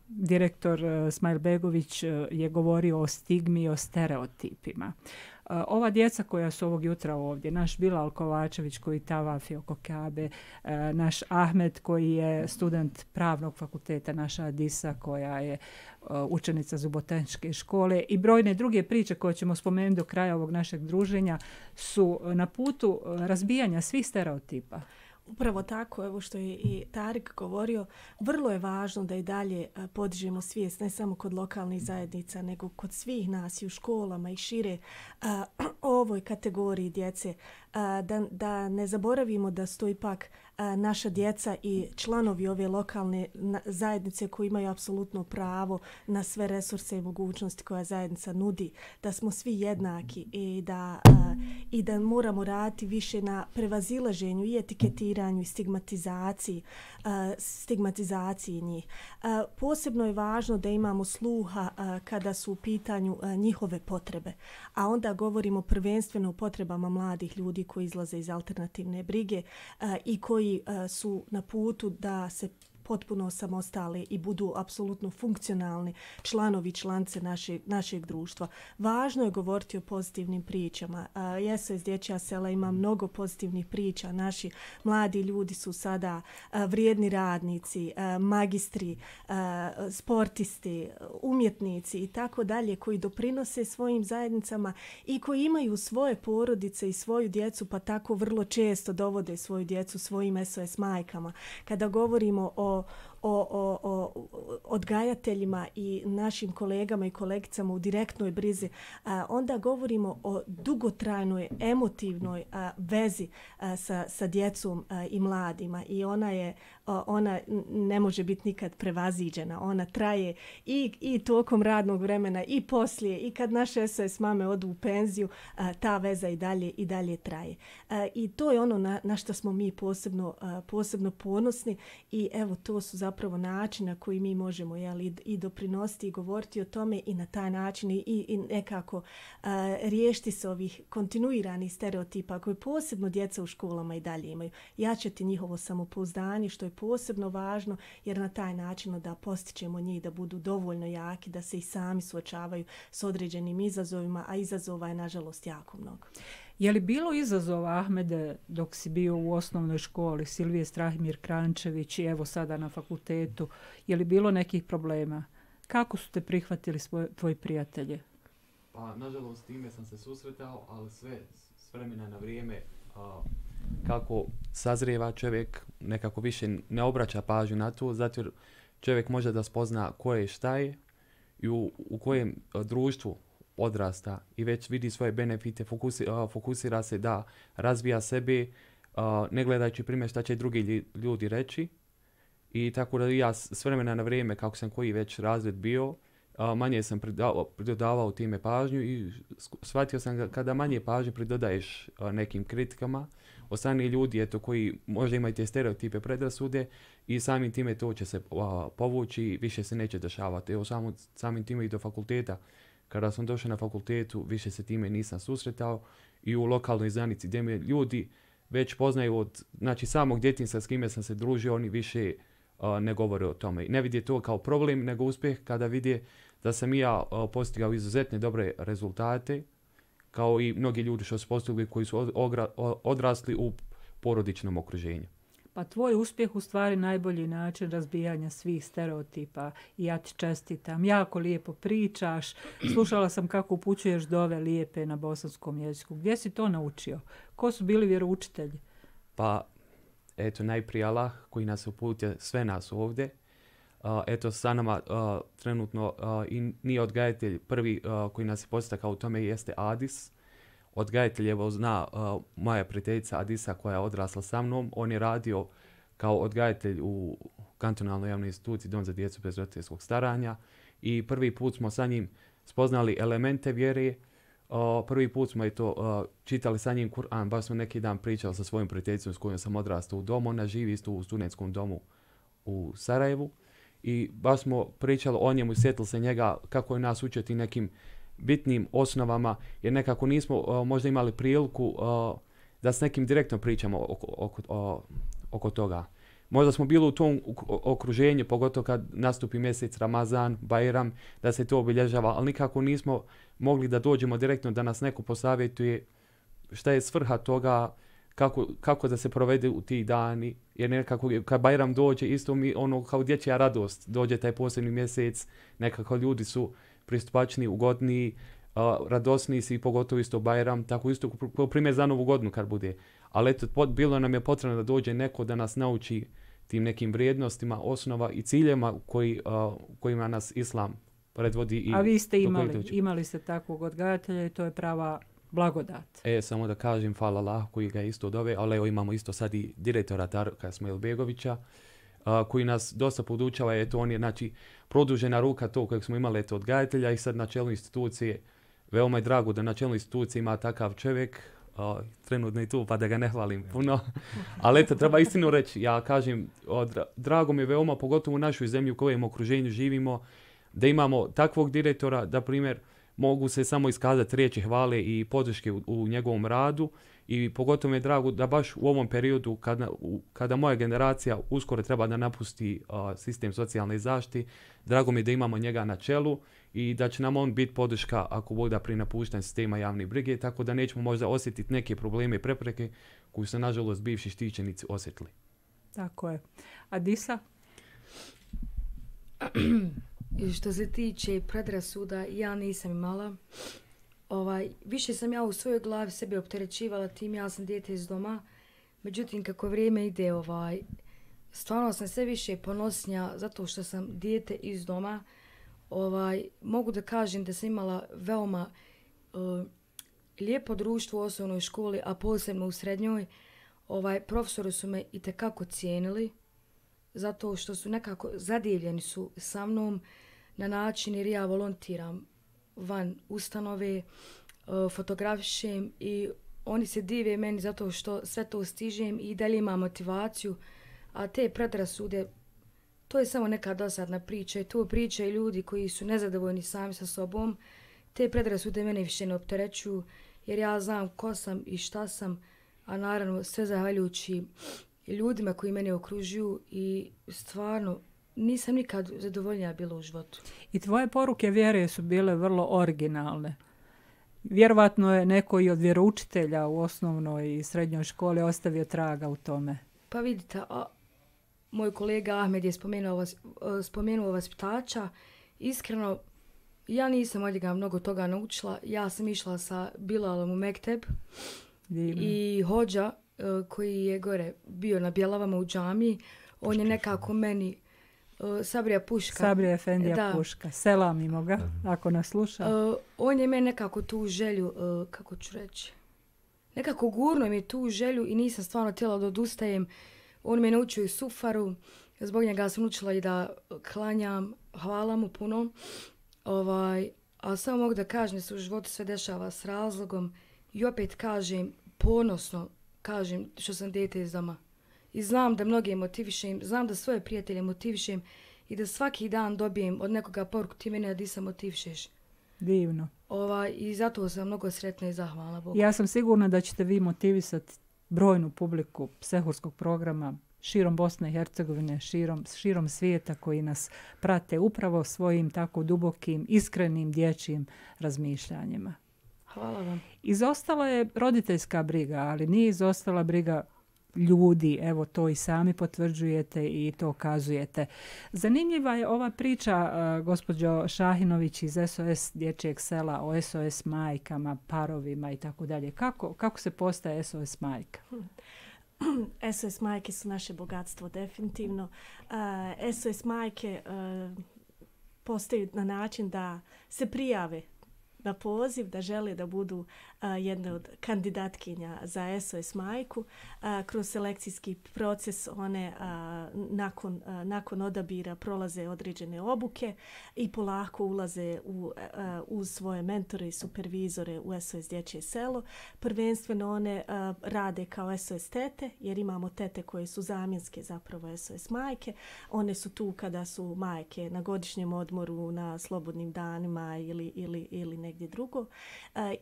[SPEAKER 1] direktor Smajlbegović je govorio o stigmi i o stereotipima. Ova djeca koja su ovog jutra ovdje, naš Bilal Kovačević koji tavafi oko Kabe, naš Ahmed koji je student pravnog fakulteta, naša Adisa koja je učenica Zuboteničke škole i brojne druge priče koje ćemo spomenuti do kraja ovog našeg druženja su na putu razbijanja svih stereotipa.
[SPEAKER 3] Upravo tako, evo što je i Tarik govorio, vrlo je važno da i dalje podižemo svijest, ne samo kod lokalnih zajednica, nego kod svih nas i u školama i šire o ovoj kategoriji djece. Da ne zaboravimo da su to ipak naša djeca i članovi ove lokalne zajednice koji imaju apsolutno pravo na sve resurse i mogućnosti koja zajednica nudi, da smo svi jednaki i da moramo raditi više na prevazilaženju i etiketiranju i stigmatizaciji njih. Posebno je važno da imamo sluha kada su u pitanju njihove potrebe, a onda govorimo prvenstveno o potrebama mladih ljudi koji izlaze iz alternativne brige i koji su na putu da se potpuno samostali i budu apsolutno funkcionalni članovi, članice našeg društva. Važno je govoriti o pozitivnim pričama. SOS Dječja sela ima mnogo pozitivnih priča. Naši mladi ljudi su sada vrijedni radnici, magistri, sportisti, umjetnici i tako dalje koji doprinose svojim zajednicama i koji imaju svoje porodice i svoju djecu, pa tako vrlo često dovode svoju djecu svojim SOS majkama. Kada govorimo o odgajateljima i našim kolegama i kolegicama u direktnoj brizi, onda govorimo o dugotrajnoj emotivnoj vezi sa djecom i mladima i ona ne može biti nikad prevaziđena. Ona traje i tokom radnog vremena i poslije i kad naše SOS mame odu u penziju, ta veza i dalje traje. I to je ono na što smo mi posebno ponosni i evo to su zapravo način na koji mi možemo i doprinositi i govoriti o tome i na taj način i nekako riješiti se ovih kontinuiranih stereotipa koje posebno djeca u školama i dalje imaju. Jačati njihovo samopouzdanje što je posebno važno jer na taj način da postičemo njih da budu dovoljno jaki da se i sami suočavaju s određenim izazovima, a izazova je nažalost jako mnogo.
[SPEAKER 1] Je li bilo izazova, Ahmede, dok si bio u osnovnoj školi, Silvije Strahimir Krančević i evo sada na fakultetu, je li bilo nekih problema? Kako su te prihvatili tvoji prijatelji?
[SPEAKER 5] Pa, nažalost, s time sam se susretao, ali sve s vremena na vrijeme, kako sazrijeva čovjek, nekako više ne obraća pažnju na to, zato jer čovjek može da spozna ko je šta je i u kojem društvu odrasta i već vidi svoje benefite, fokusira se da razvija sebe, ne gledajući primjer šta će drugi ljudi reći. I tako da ja s vremena na vrijeme, kako sam koji već razred bio, manje sam pridodavao time pažnju i shvatio sam kada manje pažnje pridodaješ nekim kritikama od strane ljudi eto, koji možda imaju te stereotipe, predrasude i samim time to će se povući i više se neće dešavati. Evo samim time i do fakulteta. Kada sam došao na fakultetu, više se time nisam susretao i u lokalnoj zajednici gdje me ljudi već poznaju od samog djetinjstva s kime sam se družio, oni više ne govore o tome. I ne vidi to kao problem, nego uspjeh kada vidi da sam i ja postigao izuzetne dobre rezultate, kao i mnogi ljudi što su postigli koji su odrasli u porodičnom okruženju.
[SPEAKER 1] Pa tvoj uspjeh u stvari najbolji način razbijanja svih stereotipa i ja ti čestitam. Jako lijepo pričaš. Slušala sam kako upućuješ dove lijepe na bosanskom jeziku. Gdje si to naučio? Ko su bili vjeroučitelji?
[SPEAKER 5] Pa, eto, najprije Allah koji nas uputio, sve nas ovdje. Eto, sa nama trenutno i nije odgajatelj prvi koji nas je postakao u tome jeste Adis. Odgajatelj evo zna moja prijateljica Adisa koja je odrasla sa mnom. On je radio kao odgajatelj u kantonalnoj javnoj instituciji Dom za djecu bez roditeljskog staranja i prvi put smo sa njim spoznali elemente vjere. Prvi put smo čitali sa njim Kur'an, baš smo neki dan pričali sa svojom prijateljicom s kojom sam odrastao u domu. Ona živi isto u studentskom domu u Sarajevu i baš smo pričali o njemu i sjetili se njega kako je nas učiti nekim bitnim osnovama, jer nekako nismo možda imali priliku da s nekim direktno pričamo oko toga. Možda smo bili u tom okruženju, pogotovo kad nastupi mjesec Ramazan, Bajram, da se to obilježava, ali nikako nismo mogli da dođemo direktno da nas neko posavjetuje šta je svrha toga, kako da se provede u tih dani, jer nekako kad Bajram dođe, isto mi ono kao dječja radost, dođe taj posebni mjesec, nekako ljudi su pristupačni, ugodniji, radosniji si, pogotovo isto Bajram, tako isto primjer za Novu godinu kad bude. Ali eto, bilo nam je potrebno da dođe neko da nas nauči tim nekim vrijednostima, osnova i ciljema kojima nas Islam predvodi.
[SPEAKER 1] A vi ste imali ste takvog odgajatelja i to je prava blagodat.
[SPEAKER 5] Samo da kažem, hvala Allah koji ga isto dove, ali evo imamo isto sad i direktora Darka Smajlbegovića, koji nas dosta podučava, eto on je produžena ruka to kojeg smo imali odgajatelja i sad na čelu institucije, veoma je drago da na čelu institucije ima takav čovjek, trenutno i tu pa da ga ne hvalim puno, ali eto treba istinu reći, ja kažem, drago mi je veoma, pogotovo u našoj zemlji u kojem okruženju živimo, da imamo takvog direktora, da primjer mogu se samo iskazati riječi hvale i podrške u njegovom radu i pogotovo mi je drago da baš u ovom periodu kada moja generacija uskoro treba da napusti sistem socijalne zaštite, drago mi je da imamo njega na čelu i da će nam on biti podrška ako bude pri napuštanju sistema javne brige, tako da nećemo možda osjetiti neke probleme i prepreke koje su nažalost bivši štićenici osjetili.
[SPEAKER 1] Tako je. Adisa?
[SPEAKER 4] I što se tiče predrasuda, ja nisam imala. Više sam ja u svojoj glavi sebe opterećivala tim, ja sam dijete iz doma. Međutim, kako vrijeme ide, stvarno sam sve više ponosnija zato što sam dijete iz doma. Mogu da kažem da sam imala veoma lijepo društvo u osnovnoj školi, a posebno u srednjoj. Profesori su me itekako cijenili zato što su nekako zadivljeni su sa mnom na način jer ja volontiram van ustanove, fotografišem i oni se dive meni zato što sve to stižem i dalje imam motivaciju, a te predrasude, to je samo neka dosadna priča i to pričaju ljudi koji su nezadovoljni sami sa sobom. Te predrasude mene više ne opterećuju jer ja znam ko sam i šta sam, a naravno sve zahvaljujući ljudima koji mene okružuju i stvarno nisam nikad zadovoljnija bila u životu.
[SPEAKER 1] I tvoje poruke vjere su bile vrlo originalne. Vjerovatno je neko i od vjeroučitelja u osnovnoj i srednjoj školi ostavio traga u tome.
[SPEAKER 4] Pa vidite, moj kolega Ahmed je spomenuo vaspitača. Iskreno, ja nisam od njega mnogo toga naučila. Ja sam išla sa Bilalom u mekteb.
[SPEAKER 1] Divno.
[SPEAKER 4] I hođa koji je gore bio na Bjelavama u džamiji, on je nekako meni Sabrija Puška.
[SPEAKER 1] Sabrija Efendija Puška. Selamimo ga, ako nas sluša.
[SPEAKER 4] On je meni nekako tu želju, kako ću reći, nekako gurno mi tu želju i nisam stvarno htjela da odustajem. On me naučio i sufaru, zbog njega sam učila i da klanjam, hvala mu puno. A samo mogu da kažem da se u životu sve dešava s razlogom i opet kažem, ponosno kažem što sam dijete iz doma. I znam da mnoge motivišem, znam da svoje prijatelje motivišem i da svaki dan dobijem od nekoga poruku ti mene di se motivišeš.
[SPEAKER 1] Divno.
[SPEAKER 4] I zato sam mnogo sretna i zahvalna Bogu.
[SPEAKER 1] Ja sam sigurna da ćete vi motivisati brojnu publiku Sehurskog programa širom Bosne i Hercegovine, širom svijeta koji nas prate upravo svojim tako dubokim, iskrenim dječjim razmišljanjima.
[SPEAKER 4] Hvala vam.
[SPEAKER 1] Izostala je roditeljska briga, ali nije izostala briga ljudi. Evo, to i sami potvrđujete i to kazujete. Zanimljiva je ova priča, gospođo Šahinović, iz SOS dječjeg sela o SOS majkama, parovima i tako dalje. Kako se postaje SOS majka?
[SPEAKER 3] SOS majke su naše bogatstvo, definitivno. SOS majke postaju na način da se prijave na poziv, da žele da budu jedne od kandidatkinja za SOS majku. Kroz selekcijski proces one nakon odabira prolaze određene obuke i polako ulaze uz svoje mentore i supervizore u SOS dječje selo. Prvenstveno one rade kao SOS tete, jer imamo tete koje su zamjenske zapravo SOS majke. One su tu kada su majke na godišnjem odmoru, na slobodnim danima ili negdje drugo.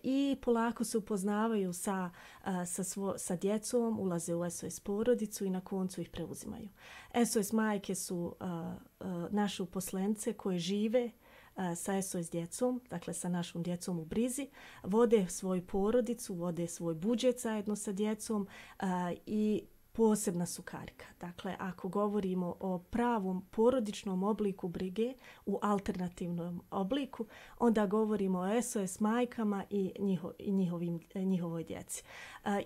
[SPEAKER 3] I polako se upoznavaju sa djecom, ulaze u SOS porodicu i na koncu ih preuzimaju. SOS majke su naše uposlenice koje žive sa SOS djecom, dakle sa našom djecom u brizi, vode svoju porodicu, vode svoj budžet zajedno sa djecom i posebna su karika. Dakle, ako govorimo o pravom porodičnom obliku brige u alternativnom obliku, onda govorimo o SOS majkama i njihovoj djeci.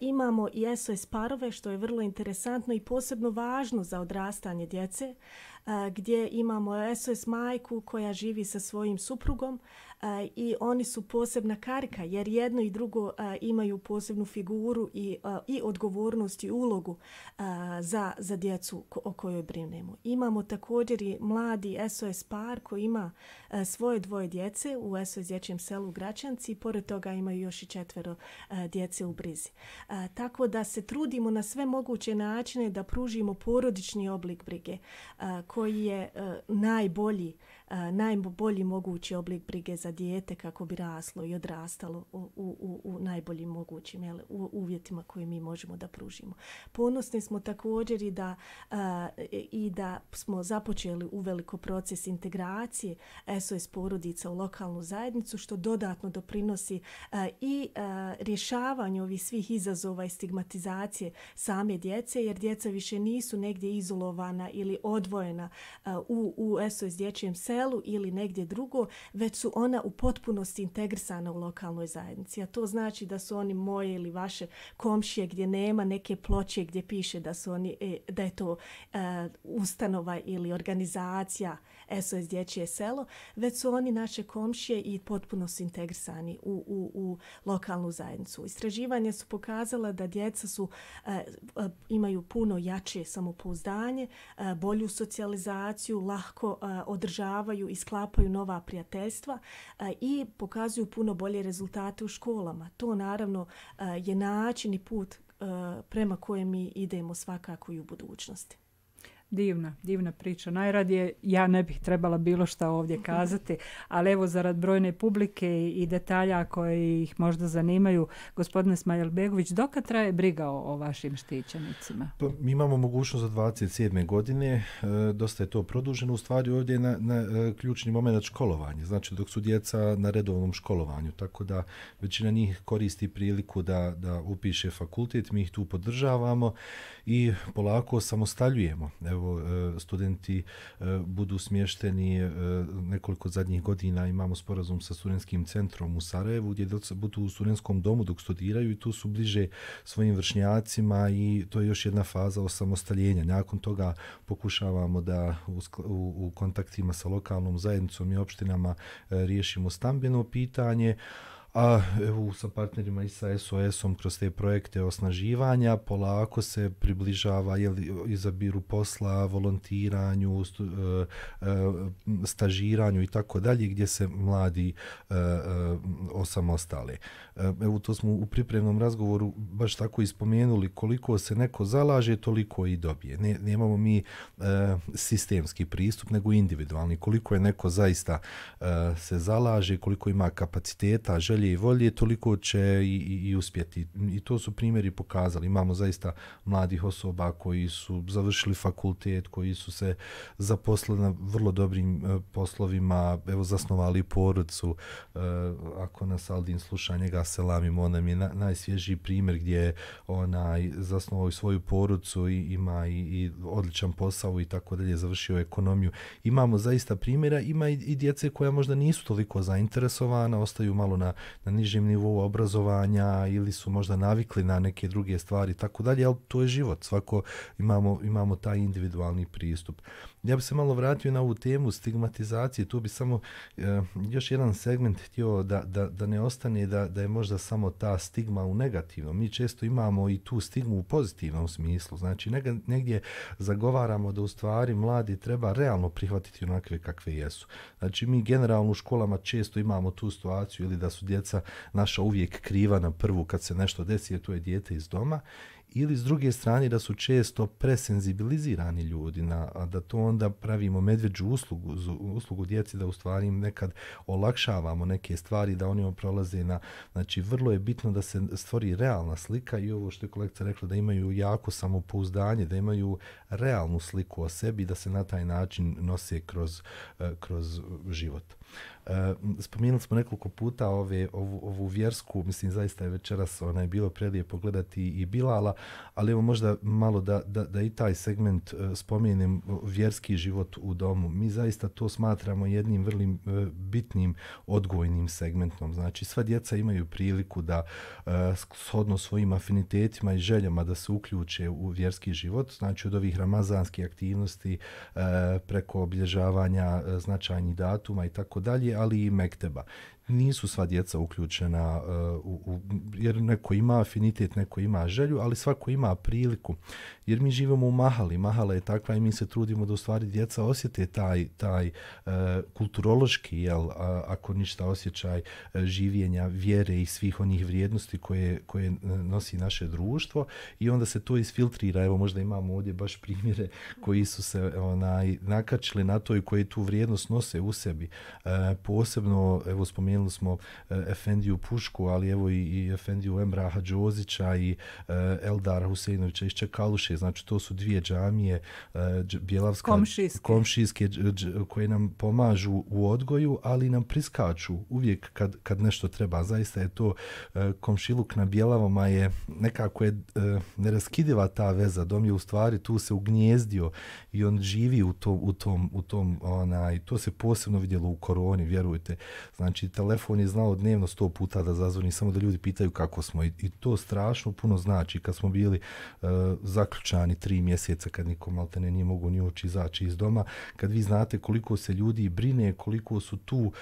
[SPEAKER 3] Imamo i SOS parove, što je vrlo interesantno i posebno važno za odrastanje djece, gdje imamo SOS majku koja živi sa svojim suprugom i oni su posebna karika jer jedno i drugo imaju posebnu figuru i odgovornost i ulogu za djecu o kojoj brinemo. Imamo također i mladi SOS par koji ima svoje dvoje djece u SOS dječjem selu Gračanci i pored toga imaju još i 4 djece u brizi. Tako da se trudimo na sve moguće načine da pružimo porodični oblik brige koji je najbolji mogući oblik brige za dijete kako bi raslo i odrastalo u najboljim mogućim uvjetima koje mi možemo da pružimo. Ponosni smo također i da smo započeli uveliko proces integracije SOS porodica u lokalnu zajednicu, što dodatno doprinosi i rješavanju ovih svih izazova i stigmatizacije same djece, jer djeca više nisu negdje izolovana ili odvojena u SOS dječjem selu ili negdje drugo, već su ona u potpunosti integrisana u lokalnoj zajednici. A to znači da su oni moje ili vaše komšije gdje nema neke ploče gdje piše da je to ustanova ili organizacija SOS dječje selo, već su oni naše komšije i potpuno su integrisani u lokalnu zajednicu. Istraživanja su pokazala da djeca imaju puno jače samopouzdanje, bolju socijalizaciju, lahko održavaju i sklapaju nova prijateljstva i pokazuju puno bolje rezultate u školama. To naravno je način i put prema kojem mi idemo svakako i u budućnosti.
[SPEAKER 1] Divna priča. Najradije ja ne bih trebala bilo šta ovdje kazati, ali evo zarad brojne publike i detalja koji ih možda zanimaju, gospodine Smajlbegović, dokad traje briga o vašim štićenicima?
[SPEAKER 2] Pa, mi imamo mogućnost za 27. godine, dosta je to produženo, u stvari ovdje je na ključni moment školovanje, znači dok su djeca na redovnom školovanju, tako da većina njih koristi priliku da upiše fakultet, mi ih tu podržavamo i polako samostaljujemo. Evo, studenti budu smješteni nekoliko zadnjih godina, imamo sporazum sa studentskim centrom u Sarajevu gdje budu u studentskom domu dok studiraju i tu su bliže svojim vršnjacima i to je još jedna faza osamostaljenja. Nakon toga pokušavamo da u kontaktima sa lokalnom zajednicom i opštinama riješimo stambeno pitanje, a evo sa partnerima i sa SOS-om kroz te projekte osnaživanja polako se približava izabiru posla, volontiranju, stažiranju i tako dalje gdje se mladi osamostale. Evo to smo u pripremnom razgovoru baš tako ispomenuli, koliko se neko zalaže, toliko i dobije. Nemamo mi sistemski pristup, nego individualni. Koliko je neko zaista se zalaže, koliko ima kapaciteta, želje i volje, toliko će i uspjeti. I to su primjeri pokazali. Imamo zaista mladih osoba koji su završili fakultet, koji su se zaposlili na vrlo dobrim poslovima, evo zasnovali porodicu. Ako nas Aldin sluša, njega selamim, on nam je najsvježiji primjer gdje je zasnovao svoju porodicu i ima i odličan posao i tako dalje, završio ekonomiju. Imamo zaista primjera, ima i djece koja možda nisu toliko zainteresovana, ostaju malo na nižem nivou obrazovanja ili su možda navikli na neke druge stvari, tako dalje, ali to je život. Svako imamo taj individualni pristup. Ja bih se malo vratio na ovu temu stigmatizacije, tu bi samo još jedan segment htio da ne ostane da je možda samo ta stigma u negativnom. Mi često imamo i tu stigmu u pozitivnom smislu, znači negdje zagovaramo da u stvari mladi treba realno prihvatiti onakve kakve jesu. Znači mi generalno u školama često imamo tu situaciju ili da su djeca naša uvijek kriva na prvu kad se nešto desi, jer to je dijete iz doma, ili s druge strane da su često presenzibilizirani ljudi, da to onda pravimo medvjeđu uslugu djeci, da u stvari im nekad olakšavamo neke stvari, da oni prolaze znači vrlo je bitno da se stvori realna slika i ovo što je kolegica rekla, da imaju jako samopouzdanje, da imaju realnu sliku o sebi, da se na taj način nose kroz život. Spomenuli smo nekoliko puta ovu vjersku, mislim zaista je večeras bilo prelijepo gledati i Bilala, ali evo možda malo da i taj segment spomenem, vjerski život u domu. Mi zaista to smatramo jednim vrlo bitnim odgojnim segmentom. Znači sva djeca imaju priliku da shodno svojim afinitetima i željama da se uključe u vjerski život, znači od ovih ramazanskih aktivnosti preko obilježavanja značajnih datuma i tako dalje, ali i mekteba. Nisu sva djeca uključena jer neko ima afinitet, neko ima želju, ali svako ima priliku. Jer mi živimo u mahali. Mahala je takva i mi se trudimo da u stvari djeca osjete taj kulturološki, ako ništa, osjećaj življenja, vjere i svih onih vrijednosti koje nosi naše društvo i onda se to isfiltrira. Evo možda imamo ovdje baš primjere koji su se nakačili na to i koji tu vrijednost nose u sebi. Posebno, evo spomenuli smo Efendiju Pušku, ali evo i Efendiju Emraha Đozića i Eldara Huseinovića iz Čekaluše. Znači to su dvije džamije bjelavska, komšijske koje nam pomažu u odgoju, ali nam priskaču uvijek kad nešto treba. Zaista je to komšiluk na Bjelavama je nekako neraskidiva ta veza. Dom je u stvari tu se ugnjezdio i on živi u tom to se posebno vidjelo u koroni, vjerujte. Znači telefon je znao dnevno 100 puta da zazvoni, samo da ljudi pitaju kako smo i to strašno puno znači. Kad smo bili zaključani 3 mjeseca, kad niko maltene nije mogu ni ući izaći iz doma, kad vi znate koliko se ljudi brine, koliko su tu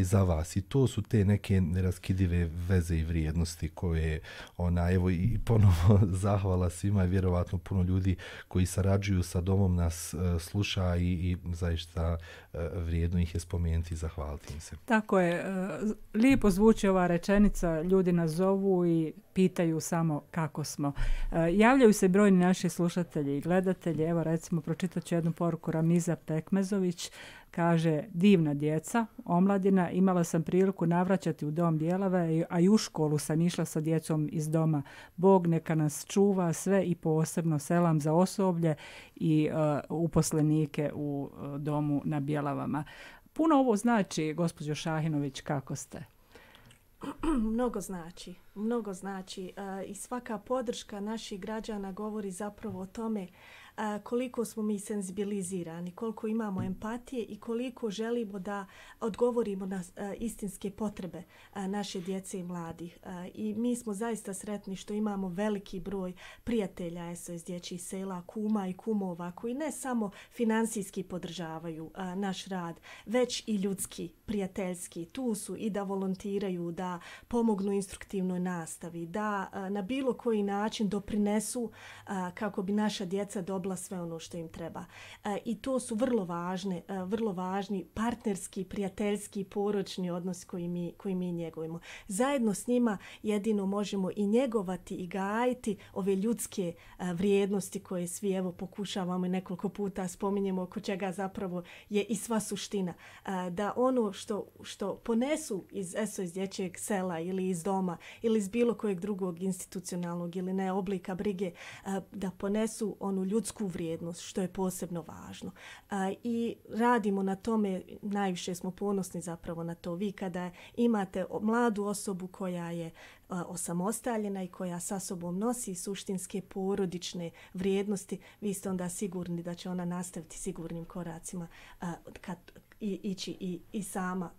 [SPEAKER 2] za vas i to su te neke neraskidive veze i vrijednosti koje evo i ponovo zahvala svima i vjerovatno puno ljudi koji sarađuju sa domom nas sluša i zaista vrijedno ih je spomenuti i zahvaliti im se.
[SPEAKER 1] Tako je. Lijepo zvuči ova rečenica, ljudi nas zovu i pitaju samo kako smo. Javljaju se brojni naši slušatelji i gledatelji. Evo recimo pročitat ću jednu poruku. Ramiza Pekmezović kaže: divna djeca, omladina, imala sam priliku navraćati u dom Bjelave, a i u školu sam išla sa djecom iz doma. Bog neka nas čuva sve i posebno selam za osoblje i uposlenike u domu na Bjelavama. Puno ovo znači, gospođo Šahinović, kako ste?
[SPEAKER 3] Mnogo znači i svaka podrška naših građana govori zapravo o tome koliko smo mi senzibilizirani, koliko imamo empatije i koliko želimo da odgovorimo na istinske potrebe naše djece i mladih. I mi smo zaista sretni što imamo veliki broj prijatelja SOS dječjih sela, kuma i kumova koji ne samo finansijski podržavaju naš rad, već i ljudski, prijateljski. Tu su i da volontiraju, da pomognu instruktivnoj nastavi, da na bilo koji način doprinesu kako bi naša djeca dobila sve ono što im treba. I to su vrlo važni partnerski, prijateljski, poročni odnos koji mi njegujemo. Zajedno s njima jedino možemo i njegovati i gajiti ove ljudske vrijednosti koje svi evo pokušavamo i nekoliko puta spominjemo, oko čega zapravo je i sva suština. Da ono što ponesu iz SOS dječjeg sela ili iz doma ili iz bilo kojeg drugog institucionalnog ili ne oblika brige, da ponesu onu ljudsku vrijednost, što je posebno važno. I radimo na tome, najviše smo ponosni zapravo na to. Vi kada imate mladu osobu koja je osamostaljena i koja sa sobom nosi suštinske porodične vrijednosti, vi ste onda sigurni da će ona nastaviti sigurnim koracima ići i sama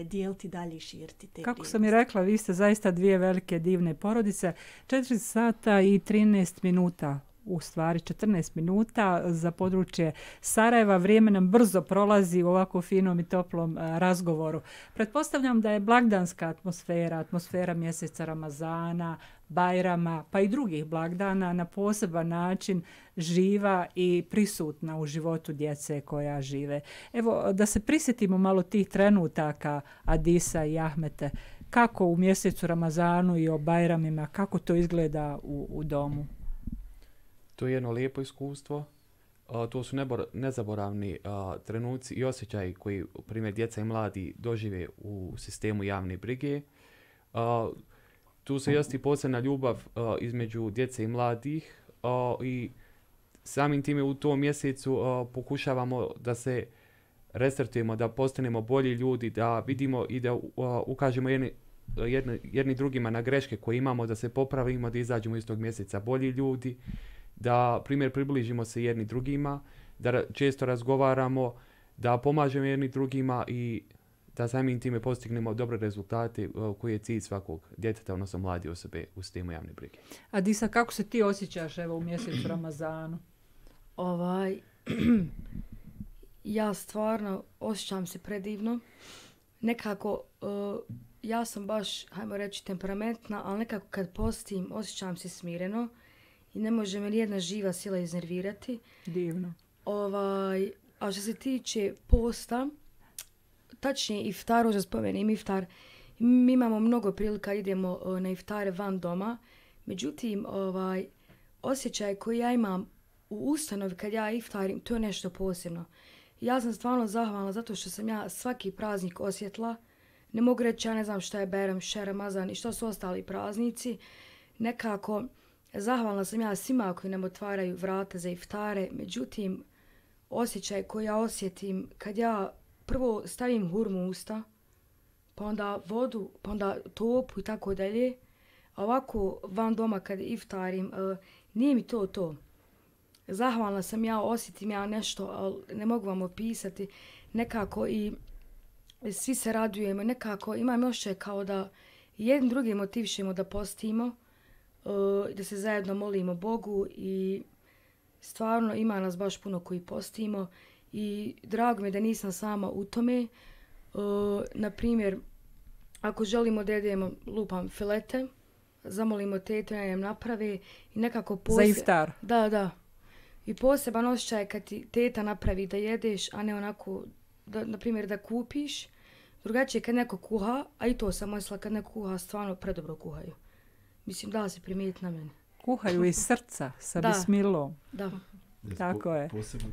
[SPEAKER 3] dijeliti dalje i širiti te
[SPEAKER 1] Kako
[SPEAKER 3] vrijednosti.
[SPEAKER 1] sam i rekla, vi ste zaista dvije velike divne porodice. 4 sata i 13 minuta, u stvari 14 minuta za područje Sarajeva. Vrijeme nam brzo prolazi u ovako finom i toplom razgovoru. Pretpostavljam da je blagdanska atmosfera mjeseca Ramazana, Bajrama, pa i drugih blagdana na poseban način živa i prisutna u životu djece koja žive. Evo, da se prisjetimo malo tih trenutaka Adisa i Ahmete, kako u mjesecu Ramazanu i o Bajramima, kako to izgleda u domu?
[SPEAKER 5] To je jedno lijepo iskustvo. To su nezaboravni trenuci i osjećaji koji, primjer, djeca i mladi dožive u sistemu javne brige. Tu se jasti posebna ljubav između djece i mladih i samim time u tom mjesecu pokušavamo da se restartujemo, da postanemo bolji ljudi, da vidimo i da ukažemo jedni drugima na greške koje imamo, da se popravimo, da izađemo iz tog mjeseca bolji ljudi, da primjer približimo se jedni drugima, da često razgovaramo, da pomažemo jedni drugima i da samim time postignemo dobre rezultate koji je cilj svakog djeteta, odnosno mlade osobe u sistemu javne brige.
[SPEAKER 1] Adisa, kako se ti osjećaš evo u mjesecu Ramazanu?
[SPEAKER 4] Ja stvarno osjećam se predivno. Nekako, ja sam baš, hajmo reći, temperamentna, ali nekako kad postim osjećam se smireno i ne može me nijedna živa sila iznervirati.
[SPEAKER 1] Divno.
[SPEAKER 4] A što se tiče posta, tačnije iftaru, da spomenem iftar, mi imamo mnogo prilika, idemo na iftare van doma, međutim, osjećaj koji ja imam u ustanovi kad ja iftarim, to je nešto posebno. Ja sam stvarno zahvalna zato što sam ja svaki praznik osjetila. Ne mogu reći, ja ne znam šta je Bajram, šta je Ramazan i šta su ostali praznici. Nekako, zahvalna sam ja svima koji nam otvaraju vrata za iftare, međutim, osjećaj koji ja osjetim kad ja prvo stavim hurmu u usta, pa onda vodu, pa onda topu i tako dalje, a ovako van doma kad iftarim, nije mi to. Zahvalna sam ja, osjetim ja nešto, ali ne mogu vam opisati, nekako i svi se radujemo, nekako imam osjećaj kao da jednim drugim motivišemo da postimo, da se zajedno molimo Bogu i stvarno ima nas baš puno koji postimo i drago mi je da nisam sama u tome. Na primjer, ako želimo da jedemo filete, zamolimo tetu da nam naprave i nekako
[SPEAKER 1] za iftar.
[SPEAKER 4] Da. I poseban osjećaj kad ti teta napravi da jedeš, a ne onako, na primjer, da kupiš. Drugačije kad neko kuha, a i to sam mislila kad neko kuha, stvarno predobro kuhaju. Mislim, da se primijeti na mene.
[SPEAKER 1] Kuhaju iz srca, sa bismilom.
[SPEAKER 4] Da.
[SPEAKER 1] Tako je.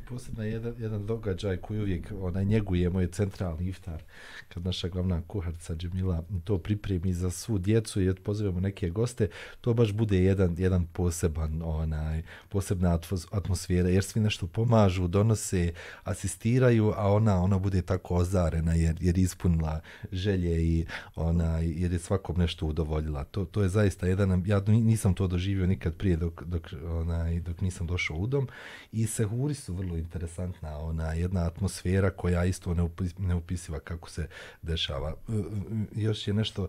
[SPEAKER 2] Posebno jedan događaj koji uvijek njegujemo je centralni iftar. Kad naša glavna kuharica Džemila to pripremi za svu djecu i pozivamo neke goste, to baš bude jedan posebna atmosfera, jer svi nešto pomažu, donose, asistiraju, a ona bude tako ozarena jer ispunila želje i jer je svakom nešto udovoljila. To je zaista ja nisam to doživio nikad prije dok nisam došao u dom. I sehuri su vrlo interesantna, jedna atmosfera koja isto neupisiva kako se dešava. Još je nešto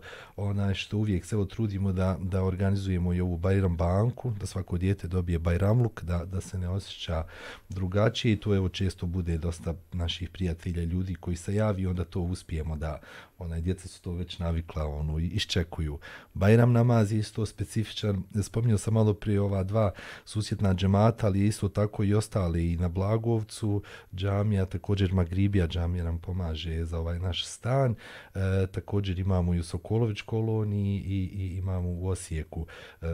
[SPEAKER 2] što uvijek se trudimo da organizujemo i ovu Bajram banku, da svako dijete dobije Bajramluk, da se ne osjeća drugačije i to često bude dosta naših prijatelja, ljudi koji se javi, onda to uspijemo da djeca su to već navikla, iščekuju. Bajram namaz je isto specifičan. Spominjao sam malo prije ova dva susjedna džemata, ali isto tako i ostali i na Blagovcu džamija, također Magribija džamija nam pomaže za ovaj naš stan. Također imamo i u Sokolović koloniji i imamo u Osijeku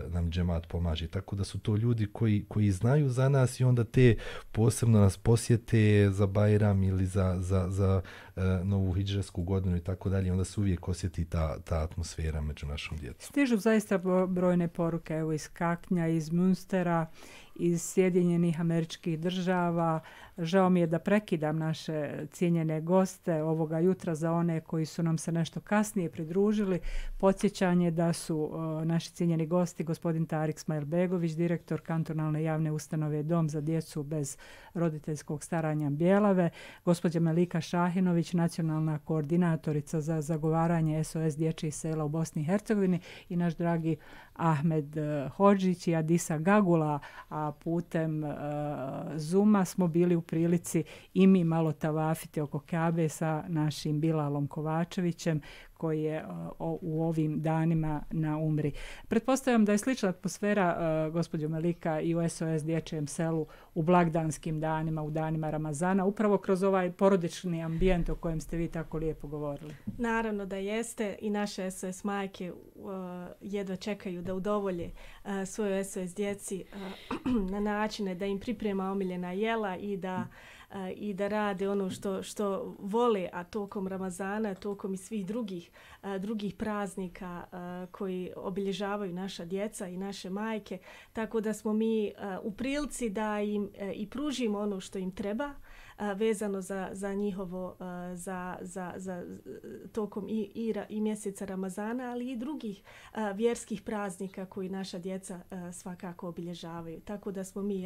[SPEAKER 2] nam džemat pomaže. Tako da su to ljudi koji znaju za nas i onda te posebno nas posjete za Bajram ili za novu hidžresku godinu i tako dalje, onda se uvijek osjeti ta atmosfera među našom djecom.
[SPEAKER 1] Stižu zaista brojne poruke, evo iz Kaknja, iz Münstera, iz Sjedinjenih Američkih Država. Žao mi je da prekidam naše cijenjene goste ovoga jutra za one koji su nam se nešto kasnije pridružili. Podsjećanje da su naši cijenjeni gosti gospodin Tarik Smajlbegović, direktor kantonalne javne ustanove Dom za djecu bez roditeljskog staranja Bjelave, gospođa Melika Šahinović, nacionalna koordinatorica za zagovaranje SOS dječjih sela u Bosni i Hercegovini i naš dragi Ahmed Hodžić i Adisa Gagula, a putem Zuma smo bili u prilici i mi malo tavafiti oko Kabe sa našim Bilalom Kovačevićem koji je u ovim danima na umri. Pretpostavljam da je slična atmosfera, gospođo Melika, i u SOS dječjem selu u blagdanskim danima, u danima Ramazana, upravo kroz ovaj porodični ambijent o kojem ste vi tako lijepo govorili.
[SPEAKER 3] Naravno da jeste i naše SOS majke jedva čekaju da udovolje svojoj SOS djeci na načine da im priprema omiljena jela i da rade ono što vole, a tokom Ramazana, tokom i svih drugih praznika koji obilježavaju naša djeca i naše majke. Tako da smo mi u prilici da im i pružimo ono što im treba vezano za njihovo za tokom i mjeseca Ramazana, ali i drugih vjerskih praznika koji naša djeca svakako obilježavaju. Tako da smo mi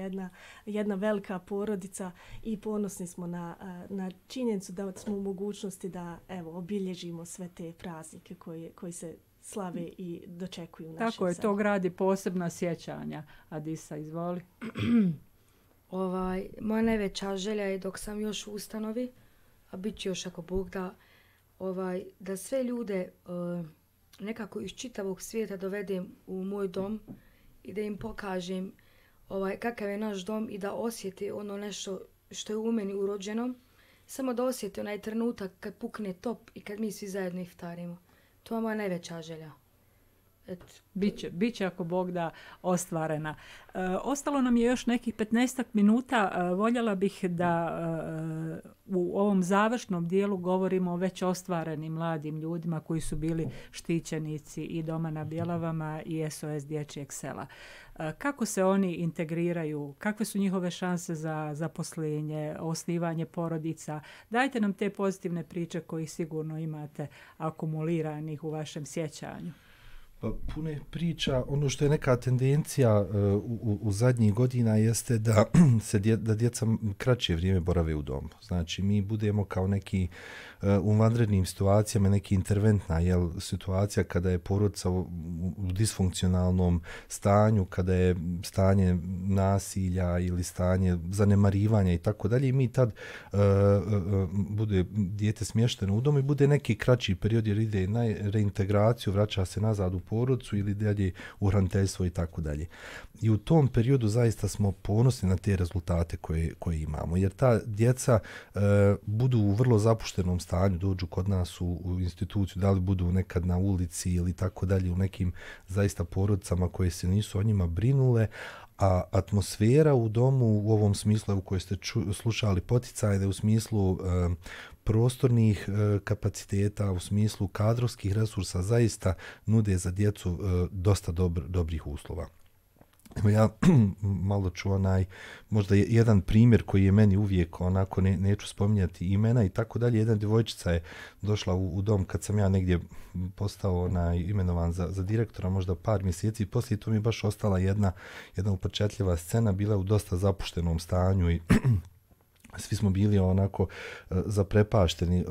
[SPEAKER 3] jedna velika porodica i ponosni smo na činjenicu da smo u mogućnosti da obilježimo sve te praznike koji se slave i dočekuju naše.
[SPEAKER 1] Tako je, to gradi posebna sjećanja. Adisa, izvoli.
[SPEAKER 4] Moja najveća želja je dok sam još u ustanovi, a bit će još ako Bog da sve ljude nekako iz čitavog svijeta dovedem u moj dom i da im pokažem kakav je naš dom i da osjete ono nešto što je u meni urođeno. Samo da osjete onaj trenutak kad pukne top i kad mi svi zajedno iftarimo. To je moja najveća želja.
[SPEAKER 1] Biće ako Bog da ostvarena. Ostalo nam je još nekih 15 minuta. Voljela bih da u ovom završnom dijelu govorimo o već ostvarenim mladim ljudima koji su bili štićenici i Doma na Bjelavama i SOS dječjeg sela. Kako se oni integriraju? Kakve su njihove šanse za zaposlenje, osnivanje porodica? Dajte nam te pozitivne priče koji sigurno imate akumuliranih u vašem sjećanju.
[SPEAKER 2] Puno je priča. Ono što je neka tendencija u zadnjih godina jeste da djeca kraće vrijeme borave u domu. Znači, mi budemo kao neki u vanrednim situacijama, neki interventna situacija kada je porodica u disfunkcionalnom stanju, kada je stanje nasilja ili stanje zanemarivanja i tako dalje. I mi tad bude dijete smješteno u domu i bude neki kraći period jer ide na reintegraciju, vraća se nazad u porodicu ili dalje u hraniteljstvo i tako dalje. I u tom periodu zaista smo ponosni na te rezultate koje imamo, jer ta djeca budu u vrlo zapuštenom stanju, dođu kod nas u instituciju, da li budu nekad na ulici ili tako dalje, u nekim zaista porodicama koje se nisu o njima brinule, a atmosfera u domu u ovom smislu u kojoj ste slušali poticajne, u smislu prostornih kapaciteta, u smislu kadrovskih resursa zaista nude za djecu dosta dobrih uslova. Ja malo ću možda jedan primjer koji je meni uvijek onako, neću spominjati imena i tako dalje. Jedna djevojčica je došla u dom kad sam ja negdje postao imenovan za direktora, možda par mjeseci, i poslije to mi je baš ostala jedna upečatljiva scena, bila je u dosta zapuštenom stanju i svi smo bili onako zaprepašteni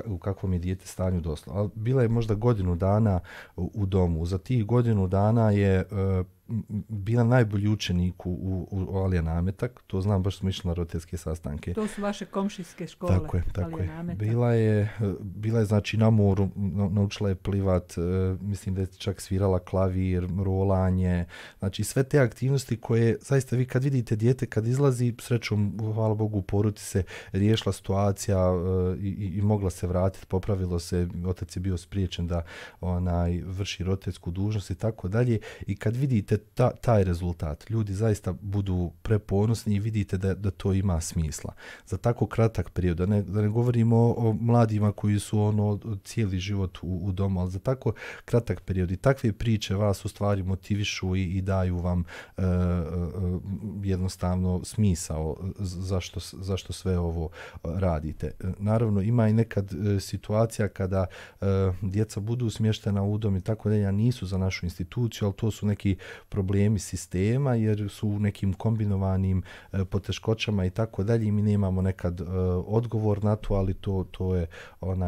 [SPEAKER 2] u kakvom je dijete stanju došlo. Ali bila je možda godinu dana u domu. Za tih godinu dana je bila najbolji učenik u Alija Nametak, to znam, baš smo išli na roditeljske sastanke.
[SPEAKER 1] To su vaše komšijske škole.
[SPEAKER 2] Tako je. Bila je znači na moru, naučila je plivat, mislim da je čak svirala klavir, rolanje, znači sve te aktivnosti koje zaista vi kad vidite dijete kad izlazi, srećom, hvala Bogu, u porodici se riješila situacija i mogla se vratiti, popravilo se, otac je bio spriječen da vrši roditeljsku dužnost i tako dalje, i kad vidite taj rezultat, ljudi zaista budu preponosni i vidite da to ima smisla. Za tako kratak period, da ne govorimo o mladima koji su cijeli život u domu, ali za tako kratak period i takve priče vas u stvari motivišu i daju vam jednostavno smisao zašto sve ovo radite. Naravno, ima i nekad situacija kada djeca budu smještena u dom i tako dalje, nisu za našu instituciju, ali to su neki problemi sistema jer su u nekim kombinovanim poteškoćama i tako dalje, i mi nemamo nekad odgovor na to, ali to je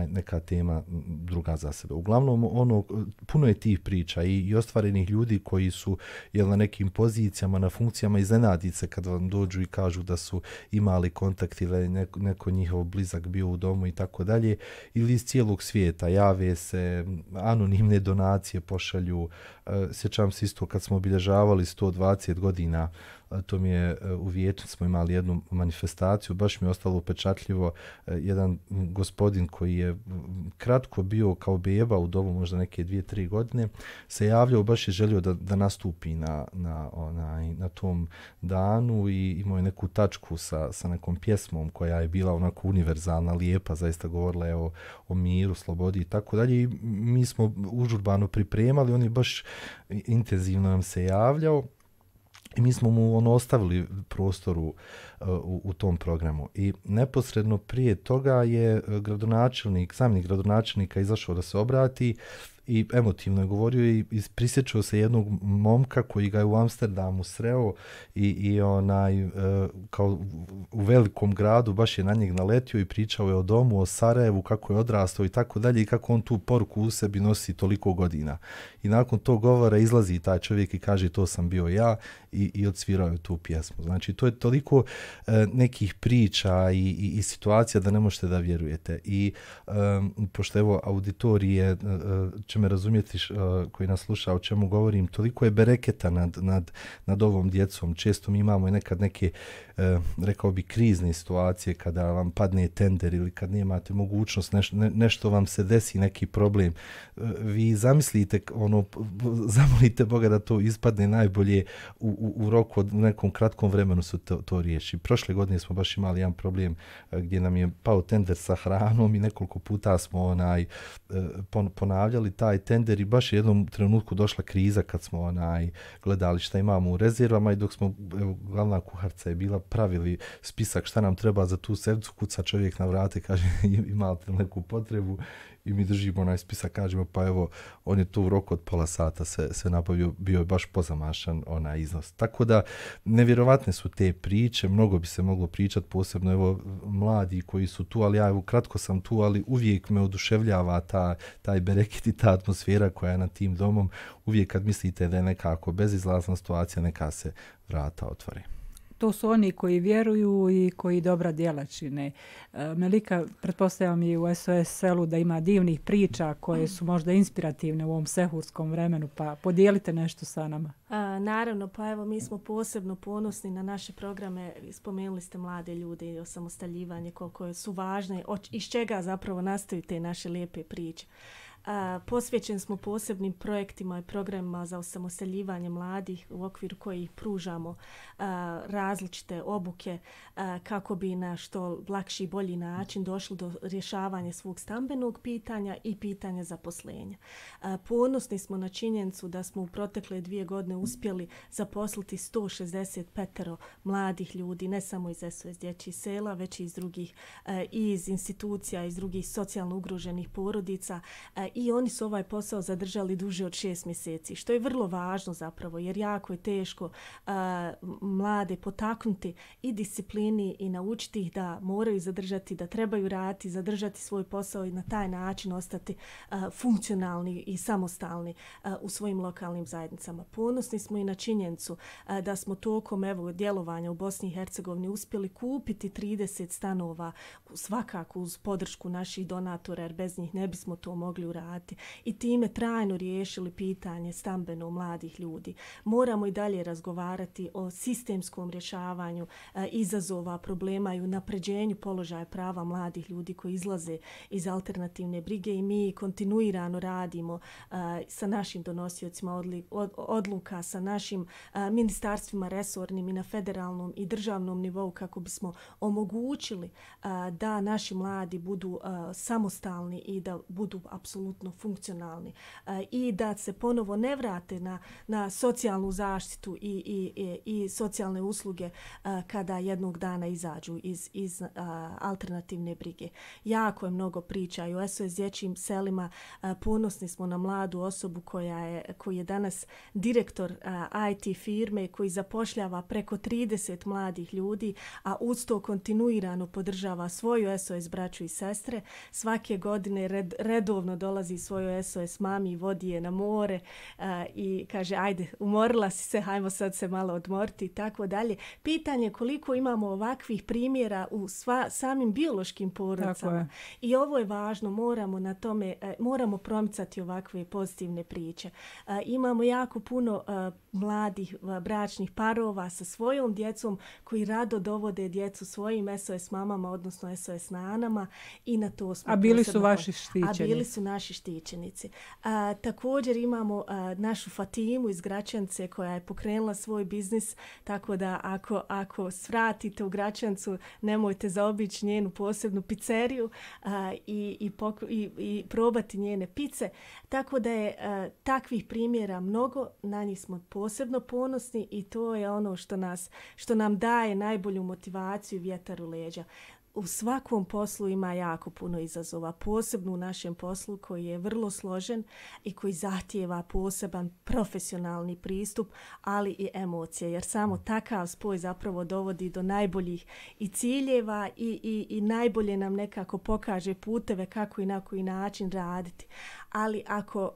[SPEAKER 2] neka tema druga za sebe. Uglavnom, puno je tih priča i ostvarenih ljudi koji su na nekim pozicijama, na funkcijama, iznenaditi se kad vam dođu i kažu da su imali kontakt ili neko njihov blizak bio u domu i tako dalje, ili iz cijelog svijeta jave se, anonimne donacije pošalju. Sjećam se isto kad smo obilježavali 120 godina, to mi je u Vijeću, smo imali jednu manifestaciju, baš mi je ostalo upečatljivo, jedan gospodin koji je kratko bio kao beba u domu, možda neke 2-3 godine, se javljao, baš je želio da nastupi na tom danu i imao je neku tačku sa nekom pjesmom koja je bila onako univerzalna, lijepa, zaista govorila je o miru, slobodi i tako dalje, i mi smo užurbano pripremali, on je baš intenzivno nam se javljao. I mi smo mu ostavili prostor u tom programu. I neposredno prije toga je zamjenik gradonačelnika izašao da se obrati i emotivno je govorio i prisjećao se jednog momka koji ga je u Amsterdamu sreo i kao u velikom gradu baš je na njeg naletio i pričao je o domu, o Sarajevu, kako je odrastao i tako dalje, i kako on tu poruku u sebi nosi toliko godina. I nakon tog govora izlazi taj čovjek i kaže to sam bio ja i odsvirao je tu pjesmu. Znači to je toliko nekih priča i situacija da ne možete da vjerujete. I pošto evo auditorije će me razumjeti koji nas sluša o čemu govorim, toliko je bereketa nad ovom djecom. Često mi imamo i nekad neke, rekao bi, krizne situacije kada vam padne tender ili kad nemate mogućnost, nešto vam se desi, neki problem. Vi zamislite, zamolite Boga da to ispadne najbolje u roku od nekom kratkom vremenu se to riješi. Prošle godine smo baš imali jedan problem gdje nam je pao tender sa hranom i nekoliko puta smo ponavljali taj tender i baš je jednom trenutku došla kriza kad smo gledali šta imamo u rezervama i dok smo, glavna kuharca je bila, pravili spisak šta nam treba za tu sedmicu, kuca čovjek na vrate, kaže imate neku potrebu i mi držimo onaj spisak, kažemo pa evo, on je tu u roku od pola sata se nabavio, bio je baš pozamašan onaj iznos. Tako da nevjerovatne su te priče, mnogo bi se moglo pričati, posebno evo mladi koji su tu, ali ja evo kratko sam tu, ali uvijek me oduševljava taj bereket i ta atmosfera koja je nad tim domom. Uvijek kad mislite da je nekako bezizlazna situacija, neka se vrata otvore.
[SPEAKER 1] to su oni koji vjeruju i koji dobra djela čine. Melika, pretpostavljam i u SOS selu da ima divnih priča koje su možda inspirativne u ovom sehurskom vremenu, pa podijelite nešto sa nama.
[SPEAKER 3] Naravno, pa evo mi smo posebno ponosni na naše programe. Spomenuli ste mlade ljude i osamostaljivanje, koliko su važne, iz čega zapravo nastaju te naše lijepe priče. Posvećeni smo posebnim projektima i programima za osamostaljivanje mladih u okviru kojih pružamo različite obuke kako bi na što lakši i bolji način došli do rješavanja svog stambenog pitanja i pitanja zaposlenja. Ponosni smo na činjenicu da smo u protekle 2 godine uspjeli zaposliti 165 mladih ljudi, ne samo iz SOS dječjih sela, već i iz drugih, i iz institucija, iz drugih socijalno ugroženih porodica, i oni su ovaj posao zadržali duže od 6 mjeseci, što je vrlo važno zapravo, jer jako je teško mlade potaknuti i disciplini i naučiti ih da moraju zadržati, da trebaju raditi, zadržati svoj posao i na taj način ostati funkcionalni i samostalni u svojim lokalnim zajednicama. Ponosni smo i na činjenicu da smo tokom djelovanja u Bosni i Hercegovini uspjeli kupiti 30 stanova, svakako uz podršku naših donatora, jer bez njih ne bismo to mogli uraditi, i time trajno riješili pitanje stambeno mladih ljudi. Moramo i dalje razgovarati o sistemskom rješavanju izazova, problema i unapređenju položaja prava mladih ljudi koji izlaze iz alternativne brige, i mi kontinuirano radimo sa našim donosiocima odluka, sa našim ministarstvima resornim i na federalnom i državnom nivou kako bismo omogućili da naši mladi budu samostalni i da budu apsolutno funkcionalni i da se ponovo ne vrate na socijalnu zaštitu i socijalne usluge kada jednog dana izađu iz alternativne brige. Jako je mnogo priča i u SOS dječjim selima. Ponosni smo na mladu osobu koji je danas direktor IT firme, koji zapošljava preko 30 mladih ljudi, a uz to kontinuirano podržava svoju SOS braću i sestre. Svake godine redovno dolazi svojoj SOS mami i vodi je na more i kaže ajde, umorila si se, hajmo sad se malo odmoriti i tako dalje. Pitanje je koliko imamo ovakvih primjera u samim biološkim porodicama. I ovo je važno, moramo promicati ovakve pozitivne priče. Imamo jako puno mladih bračnih parova sa svojom djecom koji rado dovode djecu svojim SOS mamama, odnosno SOS nanama, i na to smo
[SPEAKER 1] bili su vaši štićeni.
[SPEAKER 3] A bili su naši štićenici. Također imamo našu Fatimu iz Gračance koja je pokrenula svoj biznis, tako da ako svratite u Gračancu, nemojte zaobići njenu posebnu pizzeriju i probati njene pice. Tako da je takvih primjera mnogo, na njih smo posebno ponosni i to je ono što nam daje najbolju motivaciju i vjetar u leđa. U svakom poslu ima jako puno izazova, posebno u našem poslu koji je vrlo složen i koji zahtijeva poseban profesionalni pristup, ali i emocije, jer samo takav spoj zapravo dovodi do najboljih i ciljeva i najbolje nam nekako pokaže puteve kako i na koji način raditi. Ali ako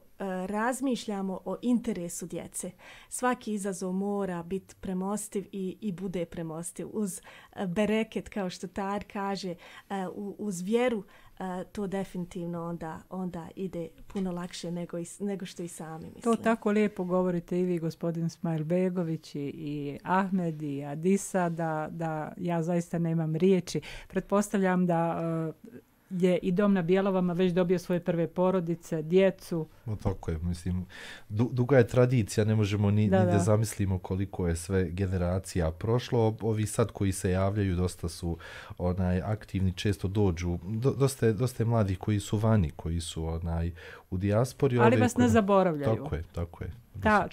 [SPEAKER 3] razmišljamo o interesu djece, svaki izazov mora biti premostiv i bude premostiv. Uz bereket, kao što Tar kaže, uz vjeru, to definitivno onda ide puno lakše nego što i sami mislimo.
[SPEAKER 1] To tako lijepo govorite i vi, gospodin Smajlbegović, i Ahmed i Adisa, da ja zaista nemam riječi. Pretpostavljam da je i Dom na Bjelovama već dobio svoje prve porodice, djecu.
[SPEAKER 2] No, tako je, mislim, duga je tradicija, ne možemo ni da zamislimo koliko je sve generacija prošlo. Ovi sad koji se javljaju dosta su aktivni, često dođu, dosta je mladih koji su vani, koji su u dijaspori.
[SPEAKER 1] Ali vas ne zaboravljaju.
[SPEAKER 2] Tako je.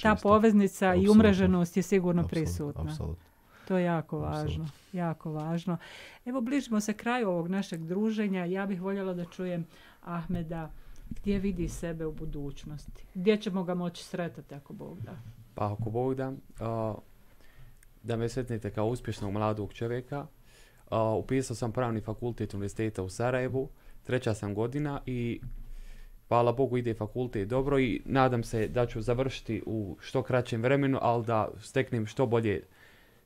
[SPEAKER 1] Ta poveznica i umreženost je sigurno prisutna.
[SPEAKER 2] Apsolutno.
[SPEAKER 1] To je jako važno. Evo, bližimo se kraju ovog našeg druženja. Ja bih voljela da čujem Ahmeda gdje vidi sebe u budućnosti. Gdje ćemo ga moći sretati ako Bog da?
[SPEAKER 5] Pa ako Bog da me sretnete kao uspješnog mladog čovjeka. Upisao sam pravni fakultet Univerziteta u Sarajevu, 3. sam godina i hvala Bogu ide fakultet dobro i nadam se da ću završiti u što kraćem vremenu, ali da steknem što bolje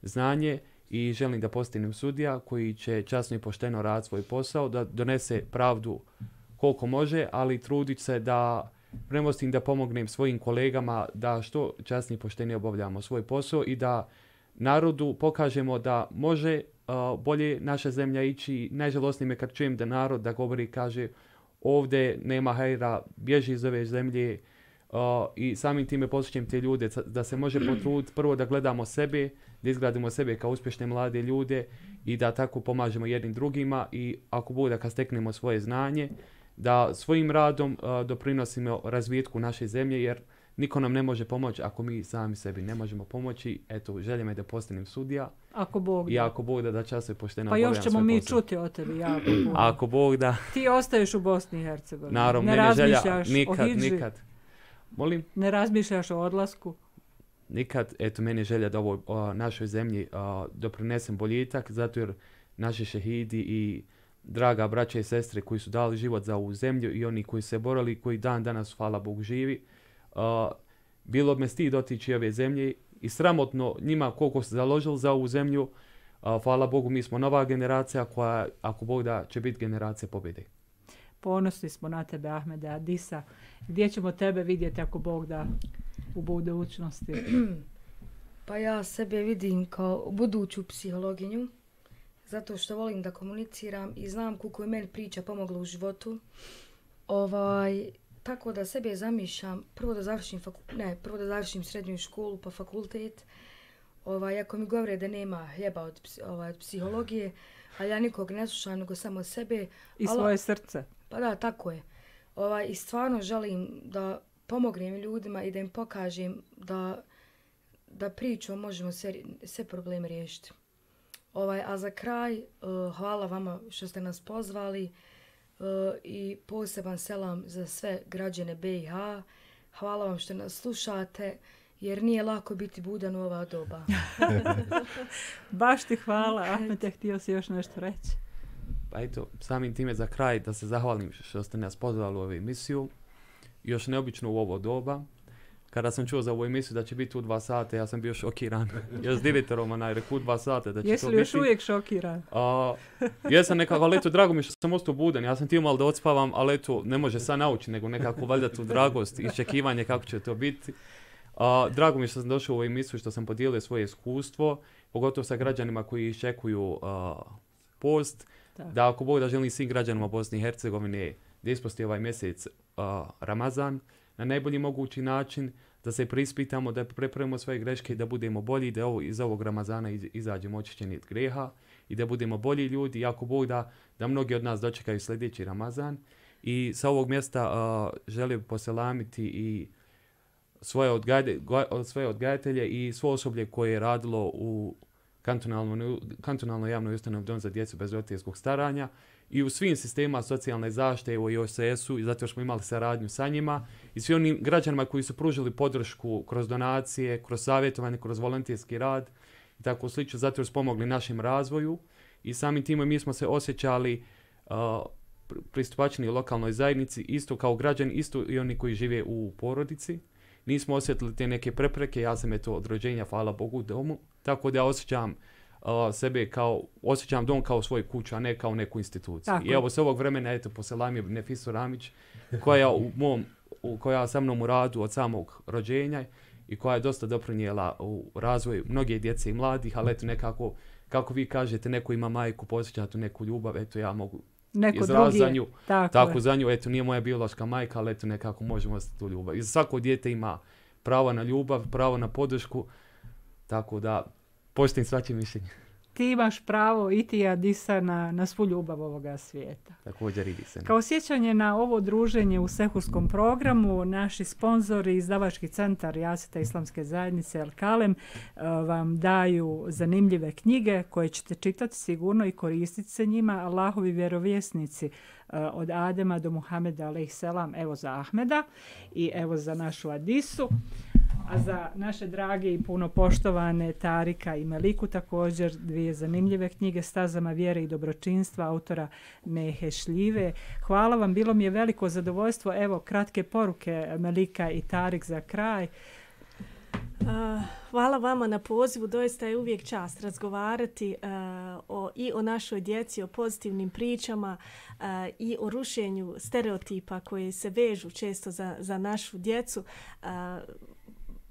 [SPEAKER 5] znanje i želim da postanem sudija koji će časno i pošteno raditi svoj posao, da donese pravdu koliko može, ali trudit se da premostim, da pomognem svojim kolegama da što časnije i poštenije obavljamo svoj posao i da narodu pokažemo da može bolje naša zemlja ići. Najžalosnije me kad čujem da narod da govori i kaže ovdje nema hajra, bježi iz ove zemlje, i samim time posjećam te ljude da se može potruditi prvo da gledamo sebe, da izgradimo sebe kao uspješne mlade ljude i da tako pomažemo jednim drugima i ako bude kad steknemo svoje znanje, da svojim radom doprinosimo razvitku naše zemlje, jer niko nam ne može pomoći ako mi sami sebi ne možemo pomoći. Eto, želja me da postanem sudija.
[SPEAKER 1] Ako Bog da.
[SPEAKER 5] I ako Bog da čas se pošteno
[SPEAKER 1] pa još ćemo mi čuti o tebi jako puno.
[SPEAKER 5] Ako Bog da.
[SPEAKER 1] Ti ostaješ u Bosni i Hercegovini.
[SPEAKER 5] Naravno,
[SPEAKER 1] ne razmišljaš o hidži.
[SPEAKER 5] Nikad. Molim?
[SPEAKER 1] Ne razmišljaš o odlasku.
[SPEAKER 5] Nikad. Eto, meni je želja da ovoj našoj zemlji doprinesem boljitak, zato jer naši šehidi i draga braća i sestre koji su dali život za ovu zemlju i oni koji se borali, koji dan danas, hvala Bogu, živi, bilo me stid otići ove zemlje i sramotno njima koliko se založili za ovu zemlju. Hvala Bogu, mi smo nova generacija koja, ako Bog da, će biti generacija pobjede.
[SPEAKER 1] Ponosni smo na tebe, Ahmede Adisa. Gdje ćemo tebe vidjeti ako Bog da u budućnosti?
[SPEAKER 4] Pa ja sebe vidim kao buduću psihologinju, zato što volim da komuniciram i znam koliko je meni priča pomogla u životu. Tako da sebe zamišljam prvo da završim srednju školu pa fakultet. Ako mi govore da nema hljeba od psihologije, ali ja nikog ne slušam, nego samo sebe.
[SPEAKER 1] I svoje srce.
[SPEAKER 4] Pa da, tako je. I stvarno želim da pomognem ljudima i da im pokažem da pričom možemo sve probleme riješiti. A za kraj, hvala vama što ste nas pozvali i poseban selam za sve građane BiH. Hvala vam što nas slušate, jer nije lako biti budan u ova doba.
[SPEAKER 1] Baš ti hvala. Ahmete, htio si još nešto reći?
[SPEAKER 5] Pa eto, samim time za kraj da se zahvalim što ste nas pozvali u ovu emisiju. Još neobično u ovo doba. Kada sam čuo za ovu emisiju da će biti u 2 sata, ja sam bio šokiran. Ja s direktorom rekao u 2 sata da će
[SPEAKER 1] Jesi
[SPEAKER 5] to biti.
[SPEAKER 1] Jesi li još uvijek šokiran?
[SPEAKER 5] Jesam nekako, ali eto, drago mi što sam ostao budan. Ja sam htio malo da odspavam, ali eto, ne može sad naučiti, nego nekako valjda tu dragost i iščekivanje kako će to biti. Drago mi što sam došao u ovu emisiju, što sam podijelio svoje iskustvo, pogotovo sa građanima koji iščekuju post. Tak. Da ako Bog da želim svim građanima Bosne i Hercegovine da isposti ovaj mjesec Ramazan na najbolji mogući način, da se preispitamo, da prepravimo svoje greške, da budemo bolji, da iz ovog Ramazana izađemo očišćeni od greha i da budemo bolji ljudi. I ako Bog da mnogi od nas dočekaju sljedeći Ramazan. I sa ovog mjesta želim poselamiti i svoje odgajatelje i svo osoblje koje je radilo u kantonalnoj javnoj ustanovi Dom za djecu bez roditeljskog staranja i u svim sistemima socijalne zaštite u OSS-u, i zato smo imali saradnju sa njima i svi onim građanima koji su pružili podršku kroz donacije, kroz savjetovanje, kroz volonterski rad i tako slično, zato jer smo pomogli našem razvoju i samim time mi smo se osjećali pristupačni lokalnoj zajednici, isto kao građani, isto i oni koji žive u porodici. Nismo osjetili te neke prepreke, ja sam od rođenja, hvala Bogu, u domu, tako da ja osjećam osjećam dom kao svoju kuću, a ne kao neku instituciju. Tako. I evo s ovog vremena, poselam je Nefisu Ramić, koja sa mnom u radu od samog rođenja i koja je dosta doprinijela u razvoju mnoge djece i mladih, ali nekako, kako vi kažete, neko ima majku, posjeća tu neku ljubav, ja mogu izraziti za nju. Tako za nju, nije moja biološka majka, ali nekako možemo ostati tu ljubav. I svako dijete ima pravo na ljubav, pravo na podršku, tako da poštujem svačije mišljenje.
[SPEAKER 1] Ti imaš pravo i ti Adisa na svu ljubav ovoga svijeta.
[SPEAKER 5] Također i se.
[SPEAKER 1] Kao sjećanje na ovo druženje u sehurskom programu, naši sponzori, izdavački centar Jaseta Islamske zajednice El Kalem, vam daju zanimljive knjige koje ćete čitati sigurno i koristiti se njima. Allahovi vjerovjesnici od Adema do Muhameda alejselam, evo za Ahmeda i evo za našu Adisu. A za naše drage i puno poštovane Tarika i Meliku također 2 zanimljive knjige Stazama vjere i dobročinstva autora Mehe Šljive. Hvala vam, bilo mi je veliko zadovoljstvo. Evo kratke poruke Melika i Tarik za kraj.
[SPEAKER 3] Hvala vama na pozivu, doista je uvijek čast razgovarati i o našoj djeci, o pozitivnim pričama i o rušenju stereotipa koji se vežu često za našu djecu.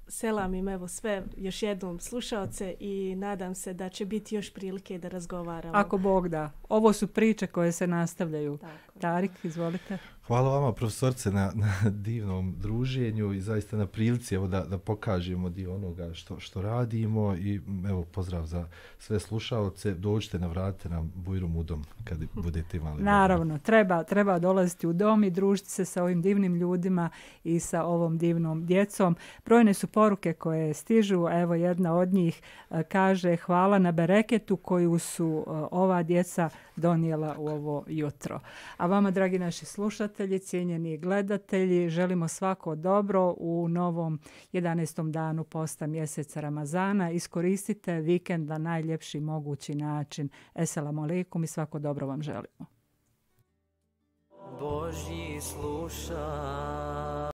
[SPEAKER 3] Selam im evo sve još jednom slušaoce i nadam se da će biti još prilike da razgovaramo.
[SPEAKER 1] Ako Bog da. Ovo su priče koje se nastavljaju. Tako. Tarik, izvolite.
[SPEAKER 2] Hvala vama profesorce na divnom druženju i zaista na prilici evo da pokažemo dio onoga što radimo i evo pozdrav za sve slušaoce. Dođite, navratite nam Bujrum u dom kad budete imali.
[SPEAKER 1] Naravno, treba dolaziti u dom i družiti se sa ovim divnim ljudima i sa ovom divnom djecom. Brojne su poruke koje stižu, evo jedna od njih kaže hvala na bereketu koju su ova djeca donijela u ovo jutro. A vama, dragi naši slušatelji, cijenjeni gledatelji, želimo svako dobro u novom 11. danu posta mjeseca Ramazana. Iskoristite vikend na najljepši mogući način. Esselamu alaikum i svako dobro vam želimo. Božji sluša.